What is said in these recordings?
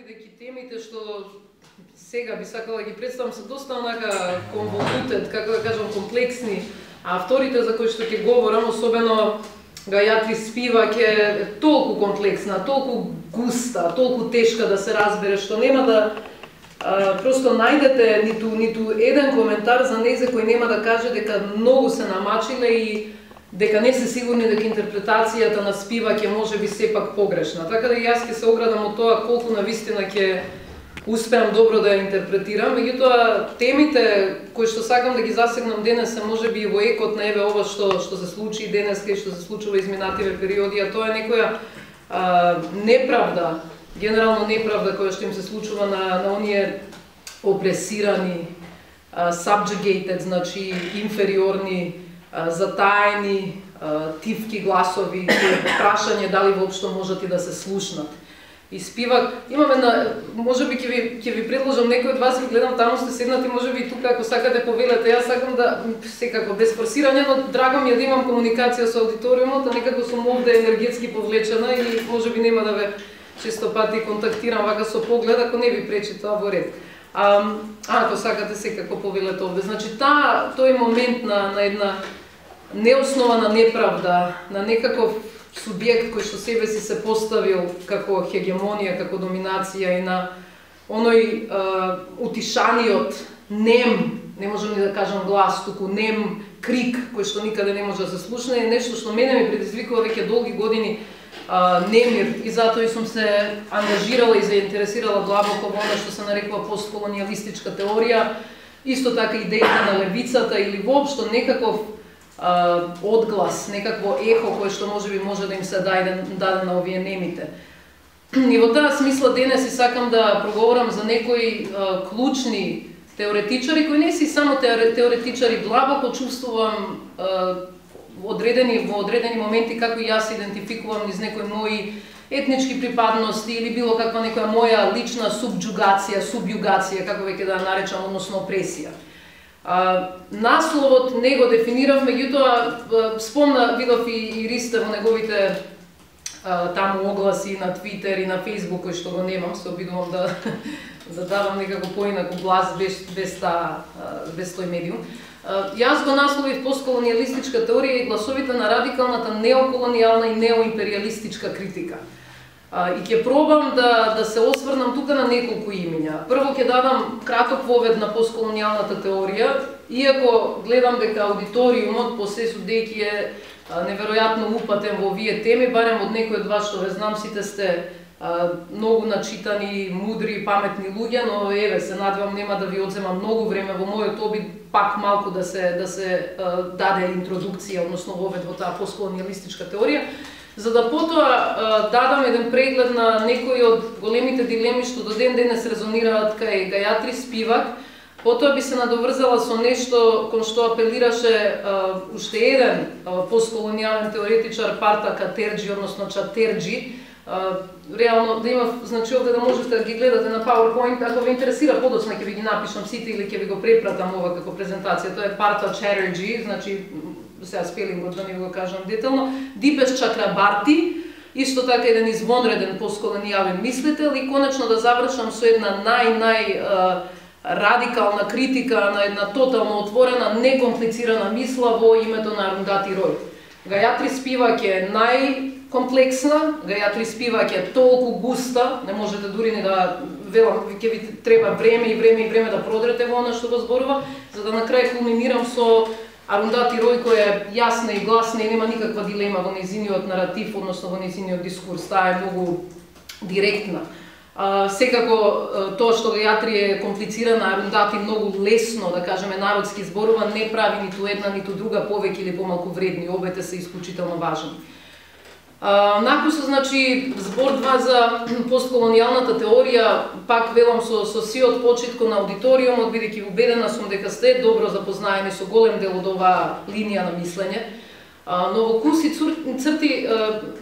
бидејќи темите што сега би сакала да ги представам се доста онака конволутет, како да кажам, комплексни, а вторите за кои што ќе говорам, особено Гајатри Спивак е толку комплексна, толку густа, толку тешка да се разбере, што нема да просто најдете ниту еден коментар за нејзе кој нема да каже дека многу се намачиле и дека не се сигурни дека интерпретацијата на Спивак е можеби сепак погрешна. Така да и јас ќе се оградам од тоа колку навистина ќе успеам добро да ја интерпретирам. Меѓутоа, темите кои што сакам да ги засегнам денес се можеби и во екот на еве ова што се случи денес и што се случува изминативе периоди, а тоа е некоја неправда, генерално неправда која што им се случува на оние опресирани, subjugated, значи инфериорни, затаени, тивки гласови, прашање дали воопшто можат и да се слушнат. И Спивак, имам една, можеби ќе ви предложам, некој од вас ги гледам таму сте седнати, можеби и тука ако сакате повелете, јас сакам да, секако без форсирање, но драго ми е да имам комуникација со аудиториумот, а некако сум овде енергетски повлечена и можеби нема да ве често пати контактирам вака со поглед, ако не ви пречи тоа во ред. Ако сакате секако повелете овде. Значи, тој момент на една неоснована неправда, на некаков субјект кој што себе си се поставил како хегемонија, како доминација и на оној утишаниот нем, не можам ни да кажам глас, туку нем крик кој што никаде не може да се слушне, е нешто што мене ми предизвикува веќе долги години немир и затоа и сум се ангажирала и заинтересирала длабоко во она што се нарекува постколонијалистичка теорија, исто така идејата на левицата или воопшто некаков одглас, некакво ехо кое што можеби може да им се даде на овие немите. И во таа смисла денес и сакам да проговорам за некои клучни теоретичари кои не си само теоретичари, длабоко чувствувам во одредени моменти како и јас се идентификувам низ некои мои етнички припадности или било каква некоја моја лична субјугација, како веќе да наречам, односно опресија. Насловот не го дефинирав, меѓутоа видов и Ристе во неговите таму огласи на Твитер и на Фејсбук, кој што го немам, се обидувам да давам некако поинаку глас без тој медиум. Јас го насловив постколонијалистичка теорија и гласовите на радикалната неоколонијална и неоимперијалистичка критика. И ќе пробам да се осврнам тука на неколку имиња. Прво ќе дадам краток вовед на постколонијалната теорија, иако гледам дека аудиториумот по се судејќи е неверојатно упатен во овие теми, барем од некој од вас што ве знам, сите сте многу начитани, мудри, паметни луѓе, но еве се надевам нема да ви одземам многу време во мојот обид пак малку да се даде интродукција, односно вовед во таа постколонијалистичка теорија, за да потоа дадам еден преглед на некои од големите дилеми што до ден денес резонираат кај Гајатри Спивак. Потоа би се надоврзала со нешто кон што апелираше уште еден постколонијален теоретичар, Парта Катерџи, односно Чатерџи. Реално да има, значи овде да можете да ги гледате на PowerPoint, ако ве интересира подоцна ќе ви ги напишам сите или ќе ви го препратам ова како презентација. Тоа е Парта Чатерџи, значи сега спелингот да не го кажам детално, Дипеш Чакрабарти, исто така еден извонреден постколонијален мислител, и конечно да завршам со една радикална критика на една тотално отворена, некомплицирана мисла во името на Арундати Рој. Гајатри Спивак е најкомплексна, Гајатри Спивак е толку густа, не можете дури ни да велам, ќе ви треба време да продрете во она што го зборува, за да на крај кулминирам со Арундати Рој, која е јасна и гласна и нема никаква дилема во нејзиниот наратив, односно во нејзиниот дискурс, таа е многу директна. Секако тоа што Гајатри е комплицирана, Арундати многу лесно, да кажеме народски зборува, не прави ниту една ниту друга повеќе или помалку вредни, обете се исклучително важни. Накусо, значи, збор 2 за постколонијалната теорија, пак велам со сиот почит кон аудиториумот, бидејќи убедена сум дека сте добро запознаени со голем дел од оваа линија на мислење. Но во куси црти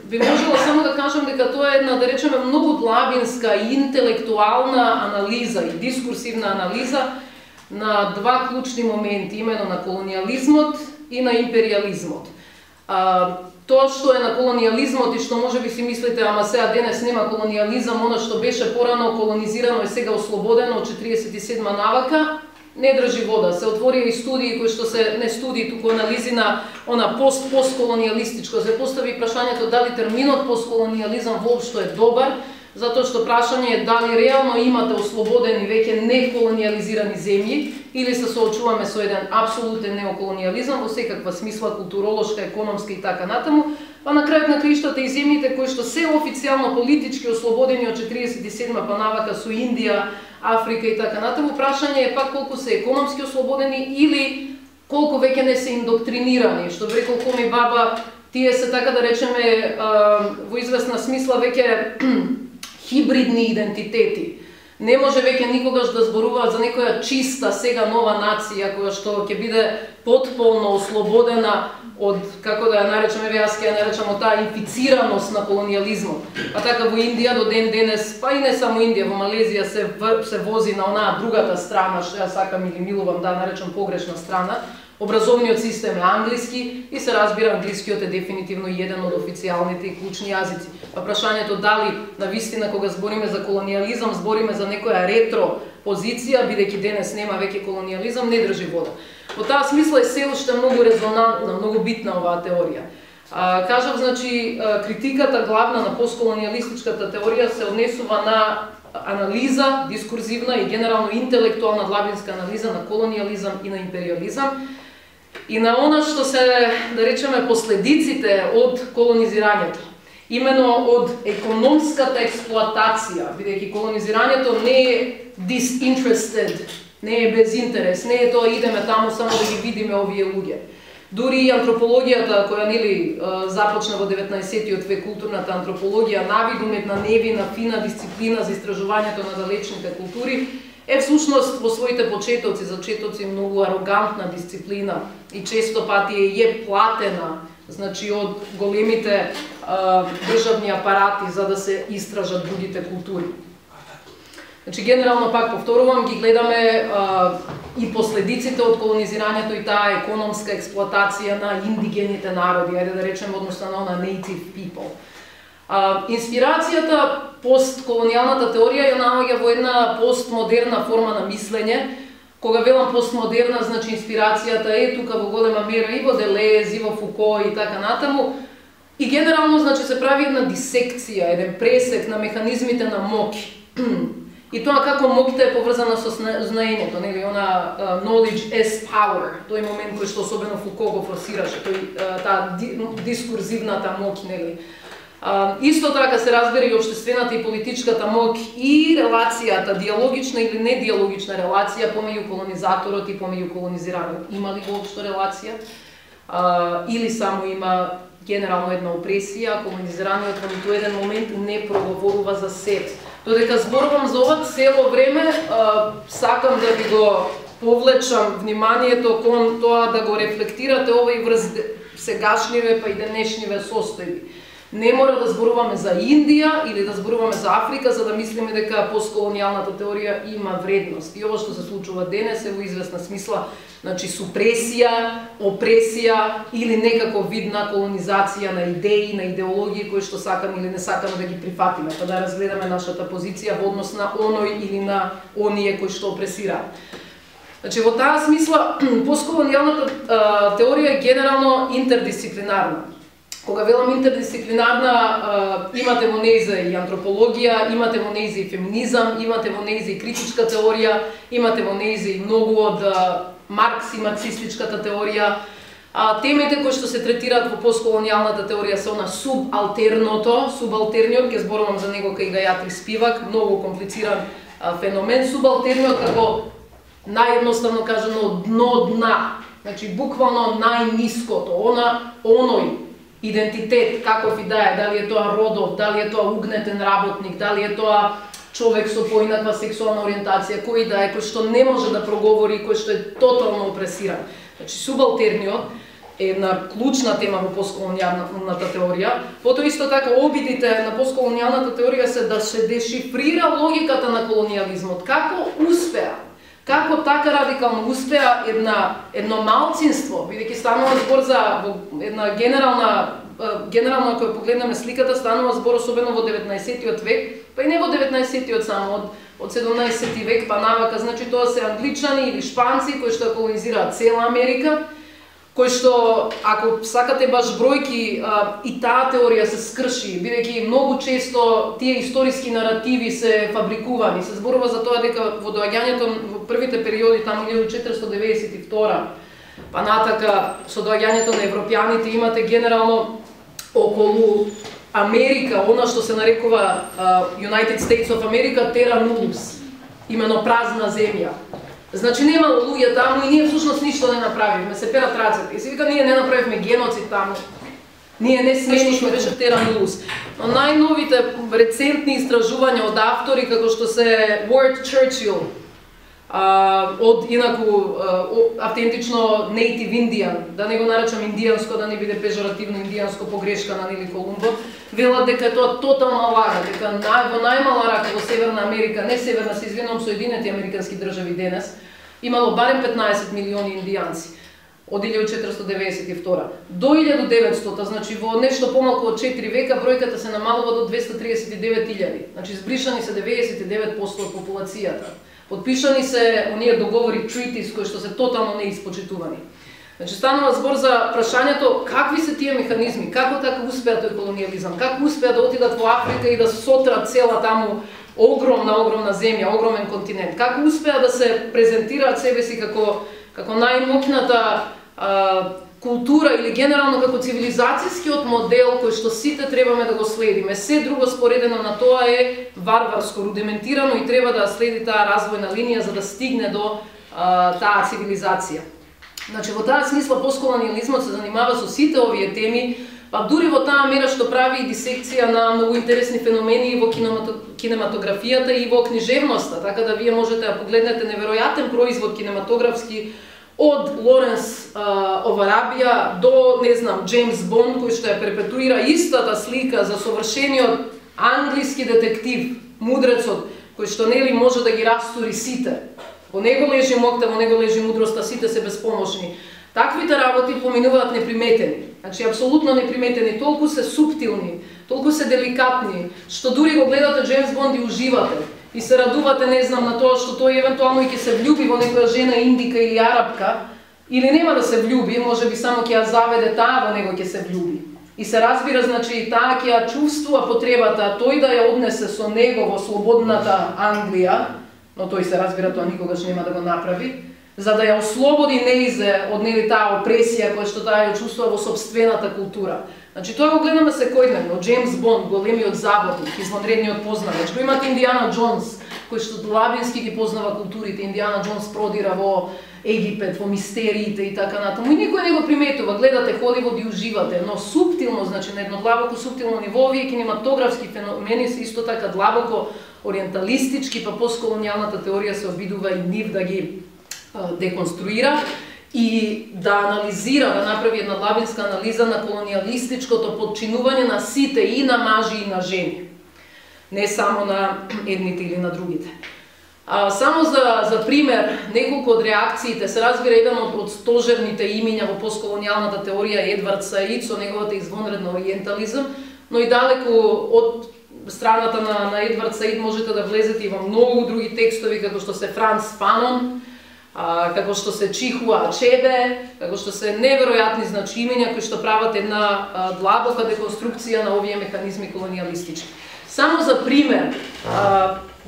би можела само да кажам дека тоа е една, да речеме, многу длабинска и интелектуална анализа и дискурсивна анализа на два клучни моменти, имено на колонијализмот и на империјализмот. Тоа што е на колонијализмот и што можеби си мислите, ама сега денес нема колонијализам, она што беше порано колонизирано и сега ослободено од 47 навака, не држи вода. Се отворија и студии кои што се не студии, туку анализи на она постколонијалистичко. Се постави прашањето дали терминот постколонијализам воопшто е добар, затоа што прашање е дали реално имате ослободени веќе неколонијализирани земји или се соочуваме со еден апсолутен неоколонијализам во секаква смисла, културолошка, економска и така натаму, па на крајот на краиштата и земјите кои што се официјално политички ослободени од 47 па навака со Индија, Африка и така натаму, прашање е пак колку се економски ослободени или колку веќе не се индоктринирани, што би рекол Коми Баба, тие се така да речеме во известна смисла веќе хибридни идентитети. Не може веќе никогаш да зборуваат за некоја чиста сега нова нација која што ќе биде потполно ослободена од, како да ја наречеме, јас ќе ја наречам од таа инфицираност на колонијализмот. А така во Индија до ден денес, па и не само Индија, во Малезија се вози на онаа другата страна, што ја сакам или милувам да наречам погрешна страна. Образовниот систем е англиски и се разбира англискиот е дефинитивно еден од официјалните и клучни јазици. Па прашањето дали навистина кога збориме за колонијализам, збориме за некоја ретро позиција, бидејќи денес нема веќе колонијализам, не држи вода. Во таа смисла е се уште многу резонантна, многу битна оваа теорија. Кажав, значи, критиката главна на постколонијалистичката теорија се однесува на анализа, дискурзивна и генерално интелектуална длабинска анализа на колонијализам и на империализам и на она што се, да речеме, последиците од колонизирањето. Имено од економската експлоатација, бидејќи колонизирањето не е disinterested, не е без интерес, не е тоа идеме таму само да ги видиме овие луѓе. Дури и антропологијата која нели започна во 19-тиот век, културната антропологија, навидумет на невина, фина дисциплина за истражувањето на далечните култури, е всушност во своите почетоци, зачетоци многу арогантна дисциплина и често пати е платена, значи од големите државни апарати за да се истражат другите култури. Значи генерално пак повторувам, ги гледаме и последиците од колонизирањето и таа економска експлоатација на индигените народи, ајде да речеме односно на native people. Инспирацијата постколонијалната теорија ја наоѓа во една постмодерна форма на мислење. Кога велам постмодерна, значи инспирацијата е тука во голема мера и во Делез, и во Фуко и така натаму. И генерално значи се прави една дисекција, еден пресек на механизмите на моќ. И тоа како моќта е поврзана со знаењето, нели, она knowledge as power, тој момент кој што особено Фуко го форсираше, таа дискурзивната моќ, нели. Исто така се разбира и општествената и политичката моќ и релацијата, диалогична или недиалогична релација помеѓу колонизаторот и помеѓу колонизираниот. Има ли воопшто релација? Или само има генерално една опресија, колонизираниот во ниту еден момент не проговорува за себе. Додека зборувам за ова цело време, сакам да ви го повлечам вниманието кон тоа да го рефлектирате ова и врз сегашниве па и денешниве состојби. Не мора да зборуваме за Индија или да зборуваме за Африка за да мислиме дека постколонијалната теорија има вредност. И ова што се случува денес е во известна смисла, значи супресија, опресија или некаков вид на колонизација на идеи, на идеологии кои што сакаме или не сакаме да ги прифатиме, па да разгледаме нашата позиција во однос на оној или на оние кои што опресираат. Значи во таа смисла постколонијалната теорија е генерално интердисциплинарна. Кога велам интердисциплинарна, имате во нејза и антропологија, имате во нејза и феминизам, имате во нејза и критичка теорија, имате во нејза и многу од Маркс и марксистичката теорија. Темите кои што се третираат во постколонијалната теорија се она субалтерното, субалтерниот, ќе зборувам за него кај Гајатри Спивак, многу комплициран феномен, субалтерниот како наједноставно кажано дно дна, значи буквално најниското, оној идентитет, каков и да е, дали е тоа родов, дали е тоа угнетен работник, дали е тоа човек со поинаква сексуална ориентација, кој да е, кој што не може да проговори, кој што е тотално опресиран. Значи, субалтерниот е една клучна тема во постколонијалната теорија. Потоа исто така обидите на постколонијалната теорија се да се дешифрира логиката на колонијализмот. Како успеа Како така радикално успеа едно малцинство, бидејќи станува збор за една генерална кога погледнеме сликата, станува збор особено во 19-тиот век, па и не во 19-тиот само, од 17 век па навака, значи тоа се англичани или шпанци кои што колонизираат цела Америка, кои што, ако сакате баш бројки, и таа теорија се скрши, бидејќи многу често тие историски наративи се фабрикувани. Се зборува за тоа дека во доаѓањето во првите периоди, таму 1492, па натака со доаѓањето на европјаните имате генерално околу Америка, она што се нарекува United States of America, terra nullus, имено празна земја. Значи немало луѓе таму и ние всушност ништо не направивме, се перат рацете. И се вика ние не направивме геноцид таму. Ние не сменишме, беше терра nullus. Но најновите рецентни истражувања од автори како што се Ward Churchill, од инаку автентично native Indian, да не го наречам индијанско, да не биде пежоративно индијанско погрешка на Нили Колумбо, велат дека е тоа тотална лага, дека во најмала рака во Северна Америка, не Северна, се извинувам, Соединети Американски држави денес, имало барем 15 милиони индијанци од 1492 до 1900, значи во нешто помалку од 4 века бројката се намалува до 239.000, значи збришани се 99% од популацијата. Подпишани се оние договори treaties кои што се тотално неиспочитувани. Значи станува збор за прашањето какви се тие механизми, како така успеа тој колонијализам, како успеа да отидат во Африка и да сотрат цела таму огромна земја, огромен континент, како успеа да се презентираат себе си како најмоќната култура или генерално како цивилизацијскиот модел кој што сите требаме да го следиме. Се друго споредено на тоа е варварско, рудиментирано и треба да следи таа развојна линија за да стигне до таа цивилизација. Значи во таа смисла постколонијализмот се занимава со сите овие теми, па дури во таа мера што прави и дисекција на многу интересни феномени во кинематографијата и во книжевноста, така да вие можете да погледнете неверојатен производ кинематографски од Лоренс of Arabia до, не знам, Джеймс Бонд, кој што ја перпетуира истата слика за совршениот англиски детектив, мудрецот, кој што нели може да ги растури сите. Во него лежи моќта, во него лежи мудроста, сите се безпомошни. Таквите работи поминуваат неприметени. Значи, апсолутно неприметени, толку се суптилни, толку се деликатни, што дури го гледате Джеймс Бонд и уживате. И се радувате, не знам, на тоа што тој евентуално и ќе се влюби во некоја жена индика или арапка, или нема да се влюби, може би само ќе ја заведе таа во него ќе се влюби. И се разбира, значи, таа ќе ја чувствува потребата тој да ја однесе со него во слободната Англија, но тој се разбира тоа никогаш нема да го направи, за да ја ослободи неизе од нели таа опресија која што таа ја чувствува во собствената култура. Значи тоа го гледаме секојдневно, Джеймс Бонд, големиот заводник, извонредниот познавач. Го имате Индиана Джонс, кој што длабински ги познава културите. Индиана Джонс продира во Египет, во мистериите и така натаму. И никој не го приметува, гледате Холивуд и уживате, но суптилно, значи на едно длабоко суптилно ниво, овие кинематографски феномени се исто така длабоко ориенталистички, па постколонијалната теорија се обидува и нив да ги деконструира и да анализира, да направи една длабинска анализа на колонијалистичкото подчинување на сите, и на мажи и на жени. Не само на едните или на другите. Само за пример, неколку од реакциите, се разбира еден од стожерните имиња во постколонијалната теорија е Едвард Саид со неговата извонредна ориентализам, но и далеку од страната на Едвард Саид можете да влезете и во многу други текстови, како што се Франц Фанон, како што се Чихуа Ачебе, како што се неверојатни имиња кои што прават една длабока деконструкција на овие механизми колонијалистички. Само за пример,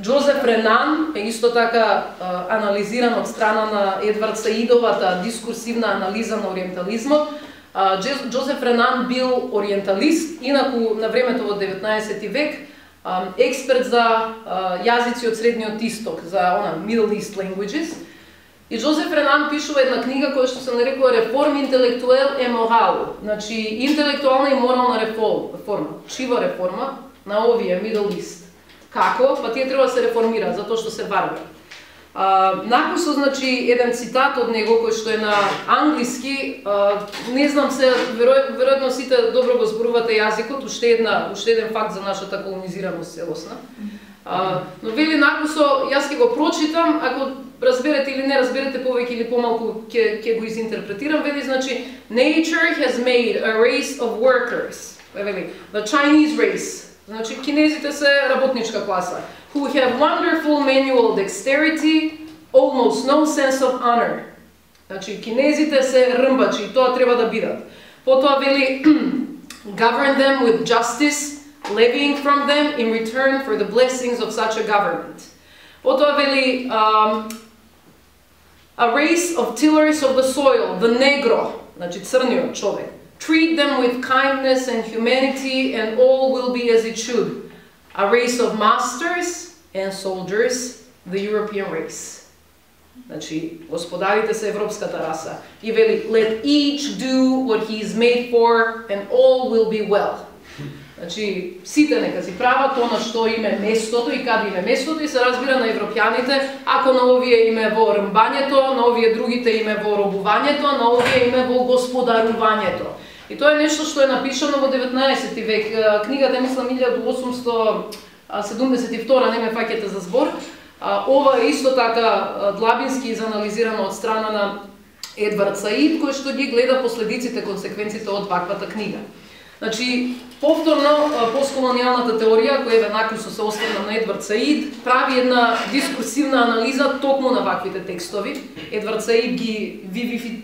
Джозеф Ренан е исто така анализиран од страна на Едвард Саидовата дискурсивна анализа на ориентализмот. Джозеф Ренан бил ориенталист, инаку на времето во 19 век, експерт за јазици од Средниот Исток, за Middle East Languages. И Джозеф Ренан пишува една книга која што се нарекува Реформ интелектуел и морал, значи интелектуална и морална реформа, чива реформа на овие Middle East. Како? Па тие треба да се реформираат, затоа што се варвари. Накусо, значи, еден цитат од него, кој што е на англиски, не знам се, веројатно сите добро го зборувате јазикот, уште еден факт за нашата колонизираност целосна. Но вели накусо, јас ќе го прочитам, ако разберете или не разберете повеќе или помалку ќе го изинтерпретирам, вели значи nature has made a race of workers. Вели the Chinese race. Значи кинезите се работничка класа who have wonderful manual dexterity, almost no sense of honor. Значи кинезите се рмбачи и тоа треба да бидат. Потоа вели govern them with justice, levying from them in return for the blessings of such a government. Потоа вели a race of tillers of the soil, the negro, значи црниот човек. Treat them with kindness and humanity and all will be as it should. A race of masters and soldiers, the European race. Значи, господарите се европската раса. И вели, let each do what he is made for and all will be well. Значи, сите нека си прават она што им е местото и каде им е местото и се разбира на европјаните, ако на овие им е во рмбањето, на овие другите им е во робувањето, на овие им е во господарувањето. И тоа е нешто што е напишано во 19 век. Книгата е, мислам, 1872, не ме фаќате за збор. Ова е исто така длабински изанализирано од страна на Едвард Саид, кој што ги гледа последиците, консеквенците од ваквата книга. Значи, повторно, постколонијалната теорија, која веднакво се остварна на Едвард Саид, прави една дискурсивна анализа токму на ваквите текстови. Едвард Саид ги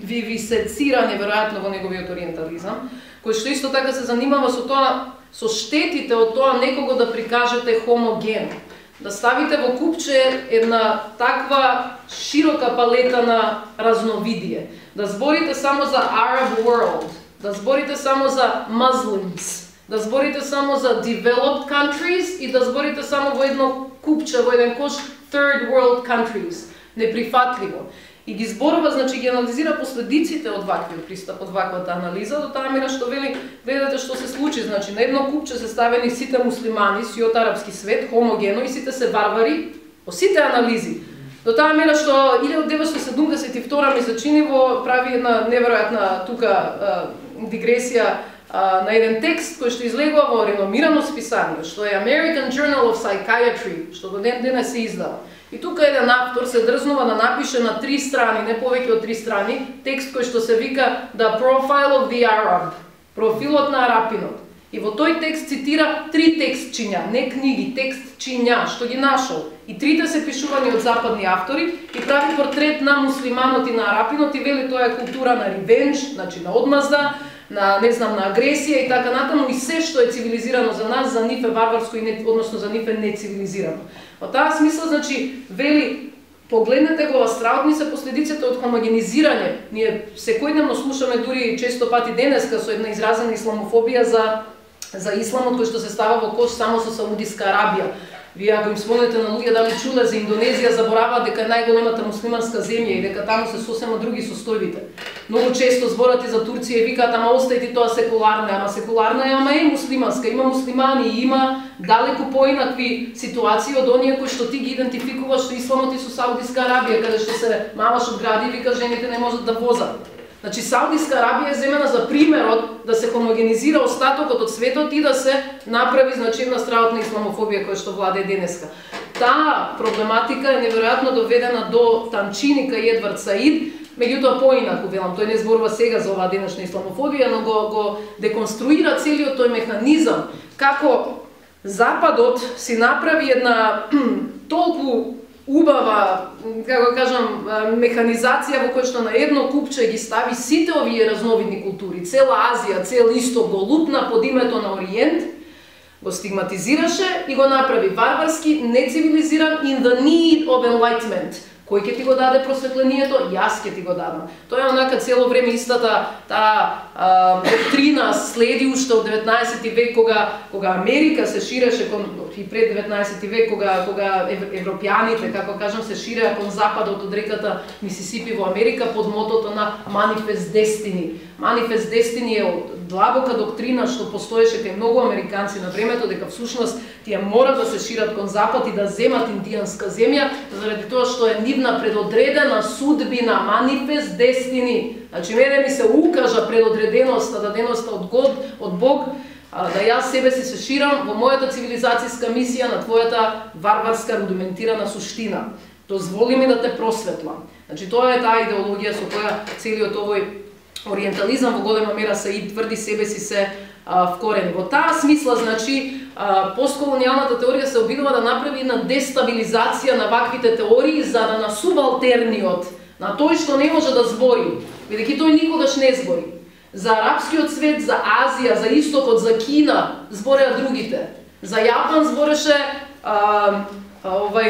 вивисецира неверојатно во неговиот ориентализам, кој што исто така се занимава со тоа, со штетите од тоа некого да прикажете хомогено. Да ставите во купче една таква широка палета на разновидие. Да зборите само за Arab world, да зборите само за Muslims, да зборите само за developed countries и да зборите само во едно купче, во еден кош third world countries. Неприфатливо. И ги зборува, значи ги анализира последиците од ваквиот пристап, од ваквата анализа, до таа мера што вели, гледате што се случи, значи на едно купче се ставени сите муслимани, сиот арапски свет, хомогено и сите се варвари, по сите анализи. До таа мера што 1972 ми се чини во прави една неверојатна тука дигресија на еден текст кој што излегува во реномирано списание, што е American Journal of Psychiatry, што до ден денес се издава. И тука еден автор се дрзнува да напише на 3 страни, не повеќе од 3 страни, текст кој што се вика The Profile of the Arab, профилот на арапинот. И во тој текст цитира 3 текстчиња, не книги, текстчиња, што ги нашол. И трите се пишувани од западни автори и прави портрет на муслиманот и на арапинот и вели тоа е култура на ревенж, значи на одмазда, на не знам на агресија и така натаму и се што е цивилизирано за нас, за нив е варварско и не, односно за нив е нецивилизирано. Во таа смисла, значи, вели, погледнете го, страутни се последиците од хомогенизирање. Ние секојдневно слушаме дури често пати денеска со една изразена исламофобија за исламот кој што се става во кош само со Саудиска Арабија. Вие ако им спомнете на луѓе дали чуле за Индонезија, забораваат дека е најголемата муслиманска земја и дека таму се сосема други состојбите. Многу често зборат и за Турција и викаат, ама оставите тоа секуларна, ама секуларна е, ама е муслиманска, има муслимани, има далеку поинакви ситуации од оние кои што ти ги идентификуваш со исламот и со Саудиска Арабија, каде што се маваш од гради и вика жените не можат да возат. Значи, Саудиска Арабија е земена за примерот да се хомогенизира остатокот од светот и да се направи значимна страутна исламофобија која што владее денеска. Таа проблематика е неверојатно доведена до танчини кај Едвард Саид, меѓутоа поинаку, велам, тој не зборува сега за оваа денешна исламофобија, но го деконструира целиот тој механизам, како Западот си направи една толку убава, како кажам, механизација во која што на едно купче ги стави сите овие разновидни култури, цела Азија, цел Исток го лупна под името на Ориент, го стигматизираше и го направи варварски, нецивилизиран in the need of enlightenment. Кој ќе ти го даде просветлението? Јас ќе ти го дадам. Тоа е онака цело време истата таа доктрина следи уште од 19 век кога Америка се ширеше и пред 19 век кога европјаните, како кажам, се ширеа кон западот од реката Мисисипи во Америка под мотото на Manifest Destiny. Manifest Destiny е длабока доктрина што постоеше кај многу американци на времето, дека всушност тие мора да се шират кон запад и да земат индијанска земја, заради тоа што е нивна предодредена судбина, Manifest Destiny. Значи, мене ми се укажа предодреденоста, даденоста од Бог, да јас себе си се ширам во мојата цивилизацијска мисија на твојата варварска рудиментирана суштина. Дозволи ми да те просветлам. Значи тоа е таа идеологија со која целиот овој ориентализам во голема мера се тврди себе си се вкорени. Во таа смисла, значи, постколонијалната теорија се обидува да направи една дестабилизација на ваквите теории за да на субалтерниот, на тој што не може да збори, бидејќи тој никогаш не збори. За арапскиот свет, за Азија, за Истокот, за Кина збореа другите. За Јапан збореше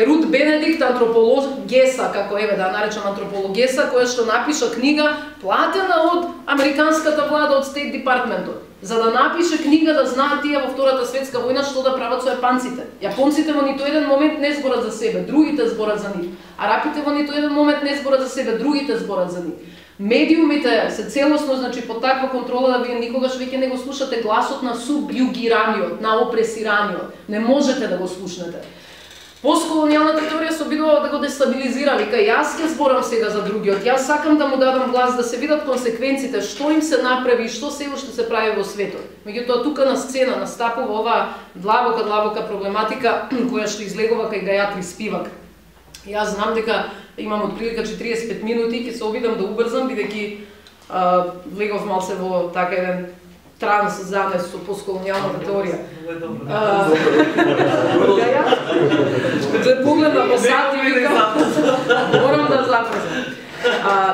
Рут Бенедикт, антропологеса, како да наречам антропологеса, која што напиша книга платена од американската влада, од Стейт Департментот, за да напише книга да знаат тие во Втората светска војна што да прават со јапонците. Јапонците во ниту еден момент не зборат за себе, другите зборат за нив. Арапите во ниту еден момент не зборат за себе, другите зборат за нив. Медиумите се целосно, значи, под таква контрола да вие никогаш веќе не го слушате гласот на субјугираниот, на опресираниот. Не можете да го слушнете. Постколонијалната теорија се обидува да го дестабилизира, вика, јас ќе зборам сега за другиот, јас сакам да му дадам глас, да се видат консеквенците, што им се направи, што се уште се прави во светот. Меѓутоа, тука на сцена настапува оваа длабока проблематика која што излегува кај Гајатри Спивак. Јас знам дека имам отприлика 45 минути, ќе се обидам да убрзам, бидејќи влегов малце во така еден транс замес со постколонијалната теорија. Ја погледна по сат и викам, морам да запрзам.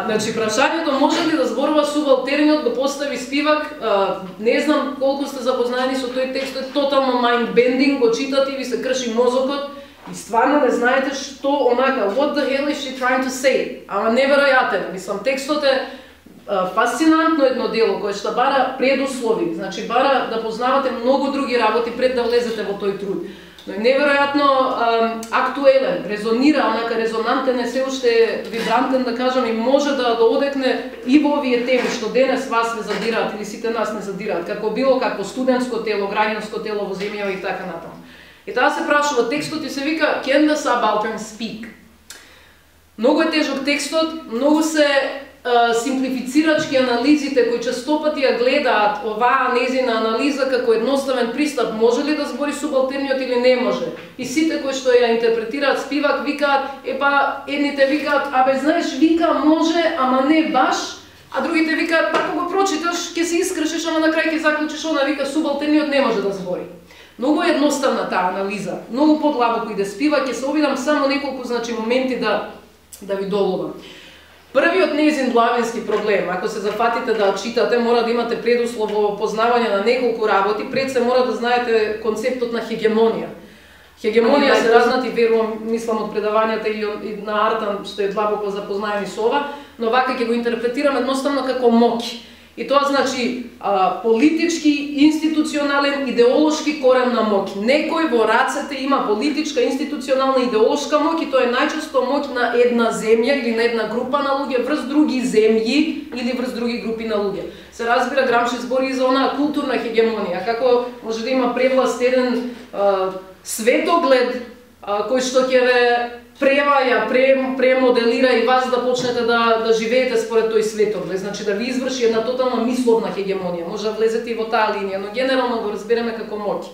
Значи, прашањето може ли да зборува субалтерниот го постави Спивак, не знам колку сте запознаени со тој текст, е тотално mind-bending, го читате и ви се крши мозокот, и стварно не знаете што онака, what the hell is she trying to say? Ама неверојатен, мислам, текстот е фасцинантно едно дело кое што бара предуслови, значи бара да познавате многу други работи пред да влезете во тој труд. Но е неверојатно актуелен, резонира, онака резонантен е, се уште вибрантен да кажам, и може да одекне и во овие теми што денес вас не задираат или сите нас не задираат, како било како студентско тело, граѓанско тело во земјава и така натаму. И таа се прашува текстот и се вика Can the Subaltern Speak? Многу е тежок текстот, многу се симплифицирачки анализите кои честопати ја гледаат оваа незина анализа како едноставен пристап, може ли да збори субалтерниот или не може. И сите кои што ја интерпретираат Спивак викаат, едните викаат, знаеш, вика може, ама не баш, а другите викаат, ако го прочиташ, ќе се искршиш, ама на крај ќе заклучиш, она вика субалтерниот не може да збори. Многу е едноставна таа анализа, многу подлабоко иде Спивак, ќе се обидам само неколку моменти да ви доловам. Првиот нејзин главински проблем, ако се зафатите да читате, мора да имате предуслов во познавање на неколку работи, пред се мора да знаете концептот на хегемонија. Хегемонија се разнати, верувам, мислам од предавањата и на Артан што е длабоко запознаени со ова, но вака ќе го интерпретирам едноставно како моќ. И тоа значи политички, институционален, идеолошки корен на моќ. Некој во рацете има политичка, институционална, идеолошка моќ и тоа е најчесто моќ на една земја или на една група на луѓе врз други земји или врз други групи на луѓе. Се разбира, Грамши збори и за онаа културна хегемонија, како може да има превласт еден светоглед кој што ќе ве преваја, премоделира и вас да почнете да живеете според тој светоглед, значи да ви изврши една тотална мисловна хегемонија. Може да влезете и во таа линија, но генерално го разбереме како моќ.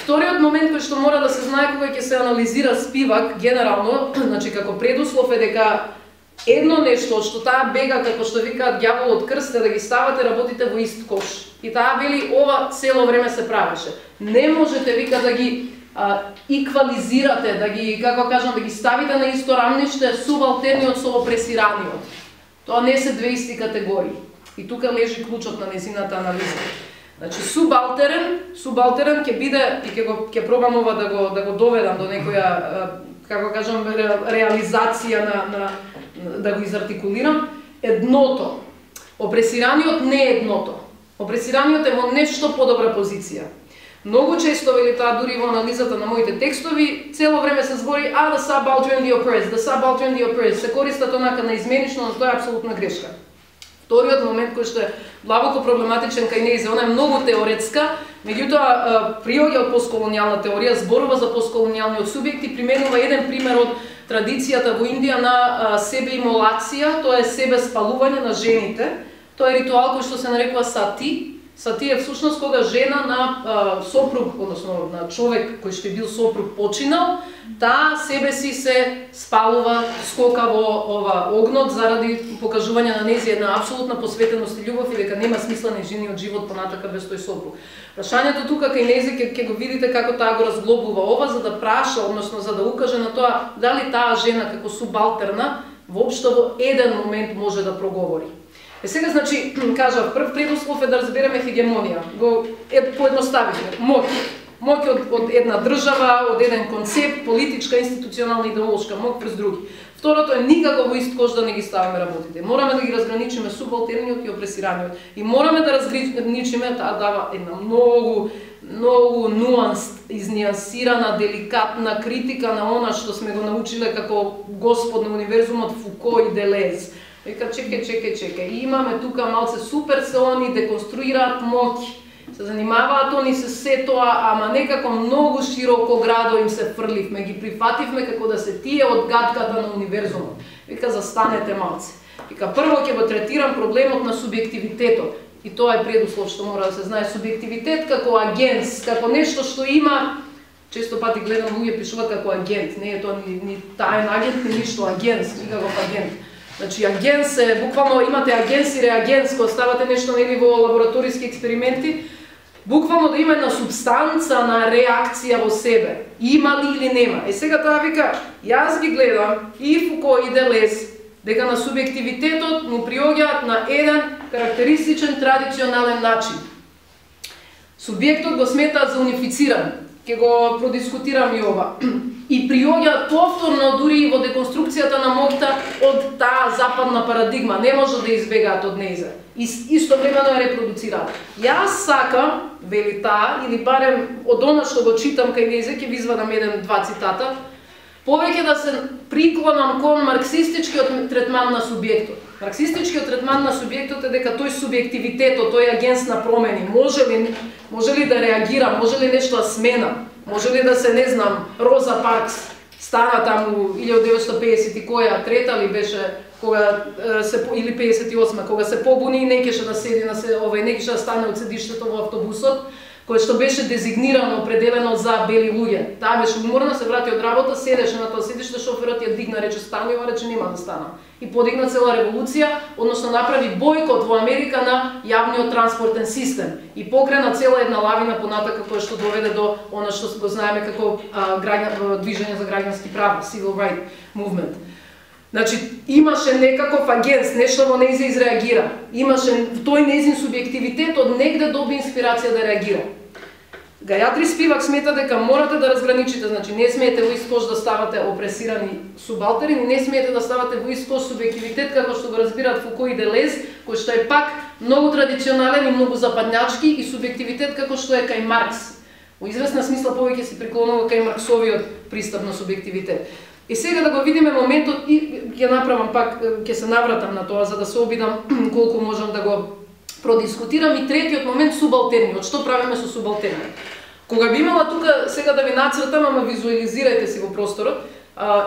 Вториот момент кој што мора да се знае кога ќе се анализира Спивак, генерално, значи како предуслов е дека едно нешто што таа бега, како што викаат ѓаволот крст, е да ги ставате работите во ист кош. И таа вели ова цело време се правеше. Не можете, вика, да ги иквализирате, да ги, како кажам, да ги ставите на исто рамниште субалтерниот со опресираниот. Тоа не се две исти категории. И тука лежи клучот на незината анализа. Значи субалтерен ќе биде и ќе пробам ова да го доведам до некоја, како кажам, реализација да го изартикулирам, едното. Опресираниот не е едното. Опресираниот е во нешто подобра позиција. Многу често, вели таа дури во анализата на моите текстови, цело време се збори the subaltern the oppressed, the subaltern the oppressed, се користат онака наизменично, но тоа е апсолутна грешка. Вториот момент кој што е длабоко проблематичен кај нејзе, она е многу теоретска, меѓутоа приоѓа од постколонијална теорија, зборува за постколонијалниот субјект и применува еден пример од традицијата во Индија на себеимолација, тоа е себе спалување на жените. Тоа е ритуал кој што се нарекува сати. са тие всушност кога жена на сопруг, односно на човек кој што е бил сопруг починал, таа себе си се спалува, скока во ова огнот заради покажување на нејзи една апсолутна посветеност и љубов и дека нема смисла нејзиниот живот понатака без тој сопруг. Прашањето тука кај нејзи ќе го видите како таа го разглобува ова за да праша, односно за да укаже на тоа дали таа жена како субалтерна воопшто во еден момент може да проговори. Сега, значи, кажав, прв предуслов е да разбереме хегемонија. Го поедноставивме. Моќ од една држава, од еден концепт, политичка, институционална, идеолошка, моќ през други. Второто е никако во ист кош да не ги ставиме работите. Мораме да ги разграничиме субалтерниот и опресираниот. И мораме да разграничиме, таа дава една многу изниансирана, деликатна критика на она што сме го научиле како Господ на универзумот Фуко и Делез. Вика, чекај, имаме тука малце супер се они, деконструираат моќ, се занимаваат они се сетоа, ама некако многу широко градо им се фрливме, ги прифативме како да се тие од гадката на универзумот. Вика, застанете малце. Вика, прво ќе го третирам проблемот на субјективитетот. И тоа е предуслов што мора да се знае. Субјективитет како агенс, како нешто што има, често пати гледам луѓе пишуваат како агент, не е тоа ни таен агент, ни ништо агенс, никаков агент. Значи, агенс е, буквално имате агенс и реагенс, кога ставате нешто нели во лабораториски експерименти, буквално да има една субстанца на реакција во себе. Има ли или нема? Сега таа вика, јас ги гледам и Фуко и Делез, дека на субјективитетот му приоѓаат на еден карактеристичен традиционален начин. Субјектот го сметаат за унифициран, ќе го продискутирам и ова. И приоѓаат повторно дури и во деконструкцијата на моќта од таа западна парадигма, не може да избегаат од нејза. И истовремено ја репродуцираат. Јас сакам, вели таа, или барем од она што го читам кај нејза, ќе ви извадам еден-два цитата, повеќе да се приклонам кон марксистичкиот третман на субјектот. Марксистичкиот третман на субјектот е дека тој субјективитетот, тој агенс на промени, може ли да реагира, може ли нешто да смена, може ли да се, не знам, Роза Паркс стана таму 1950 и која, трета ли беше, кога се или 58, кога се побуни и не кеше да седи на се, не кеше да стане од седиштето во автобусот, кој што беше дезигнирано, определено за бели луѓе. Таа беше уморна, се врати од работа, седеше на тоа седиште, шоферот ја дигна, рече стани, ова рече нема да стана. И подигна цела револуција, односно направи бојкот во Америка на јавниот транспортен систем и покрена цела една лавина понатака која што доведе до она што го знаеме како движење за граѓански права, Civil Rights Movement. Значи, имаше некаков агенс, нешто во нејзе изреагира. Имаше тој нејзин субјективитет од негде доби инспирација да реагира. Гајатри Спивак смета дека морате да разграничите, значи не смеете во ист кош да ставате опресирани субалтерни, не смеете да ставате во ист кош субјективитет како што го разбираат Фуко и Делез, кој што е пак многу традиционален и многу западњачки, и субјективитет како што е кај Маркс. Во известна смисла повеќе се приклонува кај Марксовиот пристап на субјективитет. И сега да го видиме моментот и ќе направам пак, ќе се навратам на тоа за да се обидам колку можам да го продискутирам. И третиот момент, субалтерниот. Што правиме со субалтерниот? Кога би имала тука, сега да ви нацртам, ама визуализирајте си во просторот,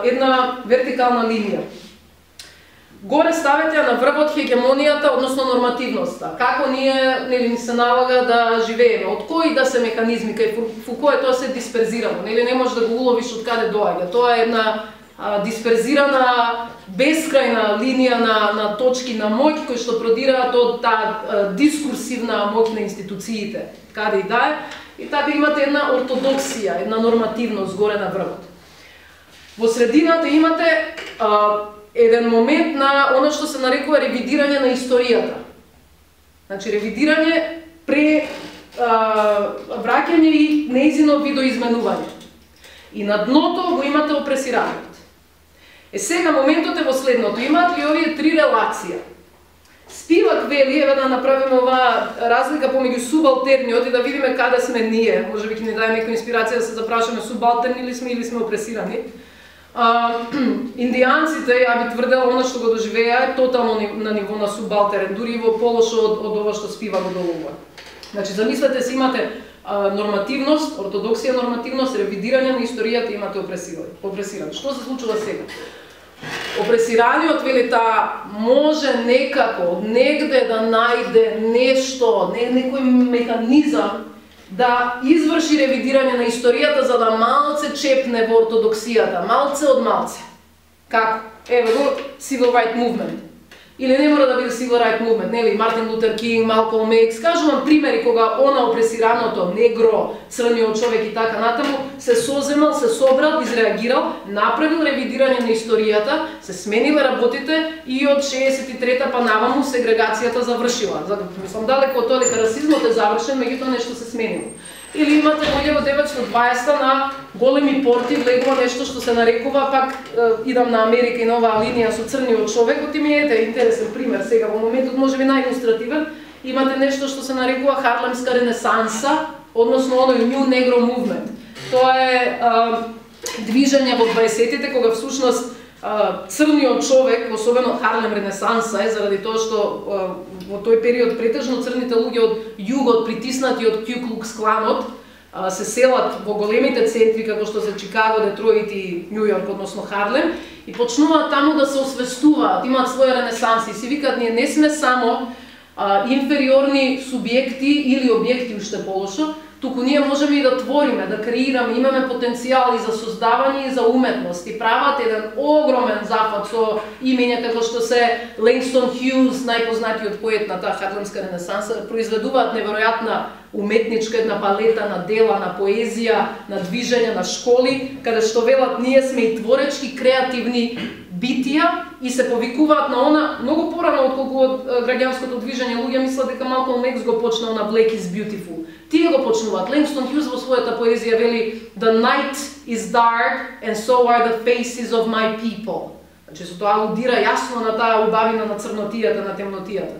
една вертикална линија. Горе ставете на врвот хегемонијата, односно нормативноста. Како ни се налага да живееме, од кои да се механизми, кај Фуко е тоа се дисперзирано, не можеш да го уловиш од каде доаѓа. Тоа е една дисперзирана, бескрајна линија на точки на моќ кои што продираат од таа дискурсивна моќ на институциите, каде и да е, и така имате една ортодоксија, една нормативност горе на врвот. Во средината имате еден момент на оно што се нарекува ревидирање на историјата. Значи, ревидирање враќање и нејзино видоизменување. И на дното го имате опресираниот. Сега моментот е во следното. Имаат ли овие три релација? Спивак вели, еве да направиме оваа разлика помеѓу субалтерниот и да видиме каде сме ние. Можеби ќе ни даде некоја инспирација да се запрашаме субалтерни ли сме или сме опресирани. Индијанците, ја би тврдела, она што го доживеа е тотално на ниво на субалтерен, дури во полошо од ова што Спивак го долгува. Значи, замислете се, имате нормативност, ортодоксија нормативност, ревидирање на историјата, имате опресиран. Што се случува сега? Опресираниот, вели таа, може некако, негде да најде нешто, некој механизам да изврши ревидирање на историјата за да малце чепне во ортодоксијата, малце од малце. Како? Еве го Civil Rights Movement. Или не мора да биде Civil Rights Movement, нели, Мартин Лутер Кинг, Малколм Икс, кажувам примери кога она опресираното, негро, црниот човек и така натаму, се соземал, се собрал, изреагирал, направил ревидирање на историјата, се смениле работите и од 63-та па наваму сегрегацијата завршила. Мислам, далеко од тоа дека расизмот е завршен, меѓутоа нешто се сменило. Или имате во 1920 на големи порти влегува нешто што се нарекува, пак идам на Америка и на оваа линија со црниот човек, оти ми ете интересен пример сега во моментот, можеби најилустративен, имате нешто што се нарекува Харлемска ренесанса, односно оној New Negro Movement. Тоа е движење во 20-тите кога всушност црниот човек, особено Харлем ренесанса е заради тоа што во тој период претежно црните луѓе од југот притиснати од Ку Клукс Кланот се селат во големите центри како што се Чикаго, Детройт и Њу Јорк, односно Харлем, и почнуваат таму да се освестуваат, имаат своја ренесанси и си викаат ние не сме само инфериорни субјекти или објекти уште полошо, туку ние можеме и да твориме, да креираме, имаме потенцијал и за создавање и за уметност. И прават еден огромен запад со имења како што се Лейнгстон Хјуз, најпознатиот поет на таа Харлемска ренесанса, произведуваат неверојатна уметничка една палета на дела, на поезија, на движење, на школи, каде што велат ние сме и творечки, креативни битија и се повикуваат на она многу порано отколку од граѓанското движење. Луѓе мислат дека Малколм Икс го почнал на Black is Beautiful. Тие го почнуваат. Лейнгстон Хјуз во својата поезија вели The night is dark and so are the faces of my people. Значи со тоа алудира јасно на таа убавина на црнотијата, на темнотијата.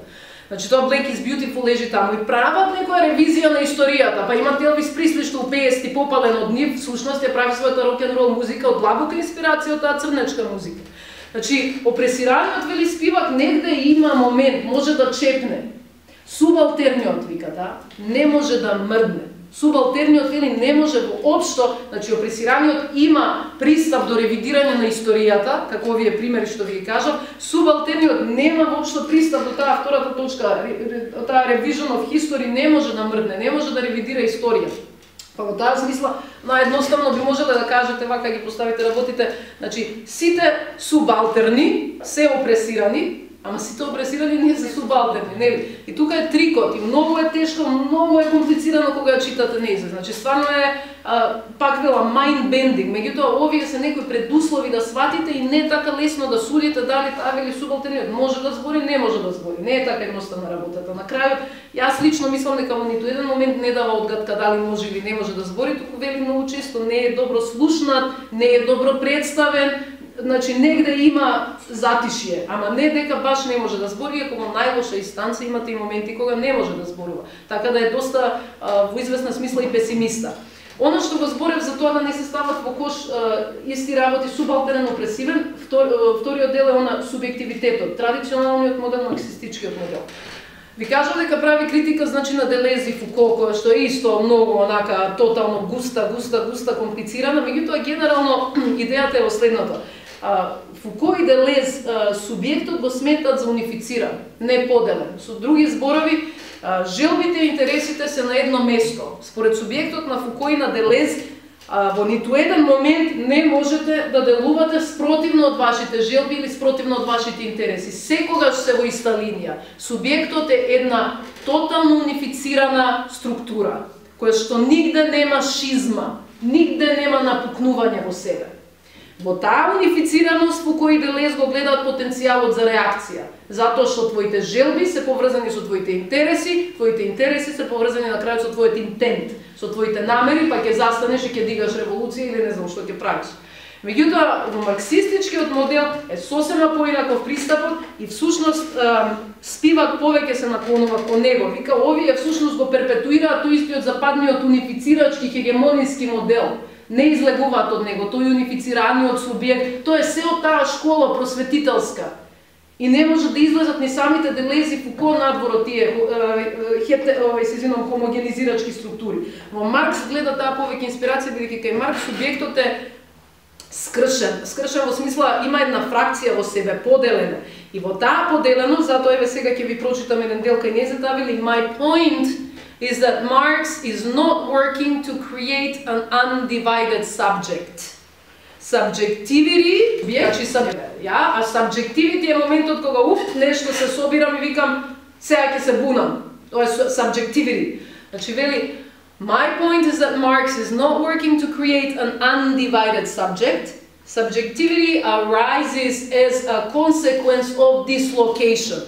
Значи тоа Black is Beautiful лежи таму и прават некоја ревизија на историјата. Па имате Елвис Пресли што у 50-ти попален од нив, всушност ја прави својата рок-н-рол музика од длабока инспирација од таа црнечка музика. Значи, опресираниот, вели спивак, негде има момент, може да чепне. Субалтерниот, вика, не може да мрдне. Субалтерниот, вели, не може воопшто, значи, опресираниот има пристап до ревидирање на историјата, како овие примери што ви ги кажав, субалтерниот нема воопшто пристап до таа втората точка, таа revision of history не може да мрдне, не може да ревидира историјата. Па во таа смисла, наедноставно би можеле да кажете, вака ги поставите работите, значи, сите субалтерни се опресирани, ама сите опресирани не се субалтерни, нели? И тука е трикот, и многу е тешко, многу е комплицирано кога ја читате неизе. Значи, стварно е, пак вела, mind bending, меѓутоа, овие се некои предуслови да сватите и не е така лесно да судите дали таа вели субалтерниот може да збори, не може да збори. Не е така едноставна работата. На крајот, јас лично мислам дека во ниту еден момент не дава одгадка дали може или не може да збори, туку вели многу често не е добро слушнат, не е добро представен, значи негде има затишје, ама не дека баш не може да збори, ако во најлоша инстанца имате и моменти кога не може да зборува. Така да е доста во известна смисла и песимиста. Оно што го зборев за тоа да не се стават во кош исти работи субалтерен опресивен, вториот дел е она субјективитетот, традиционалниот модел, марксистичкиот модел. Ви кажав дека прави критика, значи, на Делез и Фуко, која што е исто многу онака тотално густа, комплицирана, меѓутоа генерално идејата е во следното. Фуко и Делез субјектот го сметат за унифициран, не поделен. Со други зборови, желбите и интересите се на едно место. Според субјектот на Фуко и на Делез, во ниту еден момент не можете да делувате спротивно од вашите желби или спротивно од вашите интереси. Секогаш се во иста линија. Субјектот е една тотално унифицирана структура, која што нигде нема шизма, нигде нема напукнување во себе. Во таа унифицираност Фуко и Делез го гледаат потенцијалот за реакција, затоа што твоите желби се поврзани со твоите интереси се поврзани на крајот со твојот интент, со твоите намери, па ќе застанеш и ќе дигаш револуција или не знам што ќе правиш. Меѓутоа, во марксистичкиот модел е сосема поинаков пристапот и всушност Спивак повеќе се наклонува кон него. Вика, овие всушност го перпетуираат тој истиот западниот унифицирачки хегемониски модел. Не излегуваат од него, тој унифицираниот субјект, тоа е се од таа школа просветителска. И не може да излезат ни самите Делез и Фуко надвор од тие хомогенизирачки структури. Во Маркс гледа таа повеќе инспирација, бидејќи кај Маркс субјектот е скршен во смисла има една фракција во себе, поделена. И во таа поделеност, затоа еве сега ќе ви прочитам еден дел кај незата, вели my point is that Marx is not working to create an undivided subject. Subjectivity, а subjectivity е моментот кога нешто се собирам и викам сега ќе се бунам. Тоа е subjectivity. Значи вели my point is that Marx is not working to create an undivided subject. Subjectivity arises as a consequence of dislocation.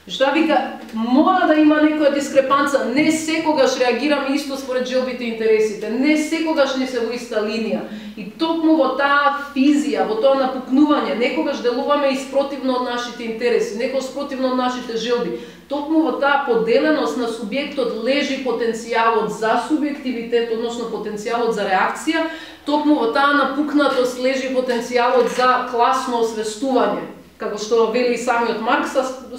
Што вика, мора да има некоја дискрепанца, не секогаш реагираме исто според желбите и интересите, не секогаш не се во иста линија. И токму во таа физија, во тоа напукнување, некогаш делуваме и спротивно од нашите интереси, некогаш спротивно од нашите желби. Токму во таа поделеност на субјектот лежи потенцијалот за субјективитет, односно потенцијалот за реакција, токму во таа напукнатост лежи потенцијалот за класно освестување. Како што вели и самиот Маркс,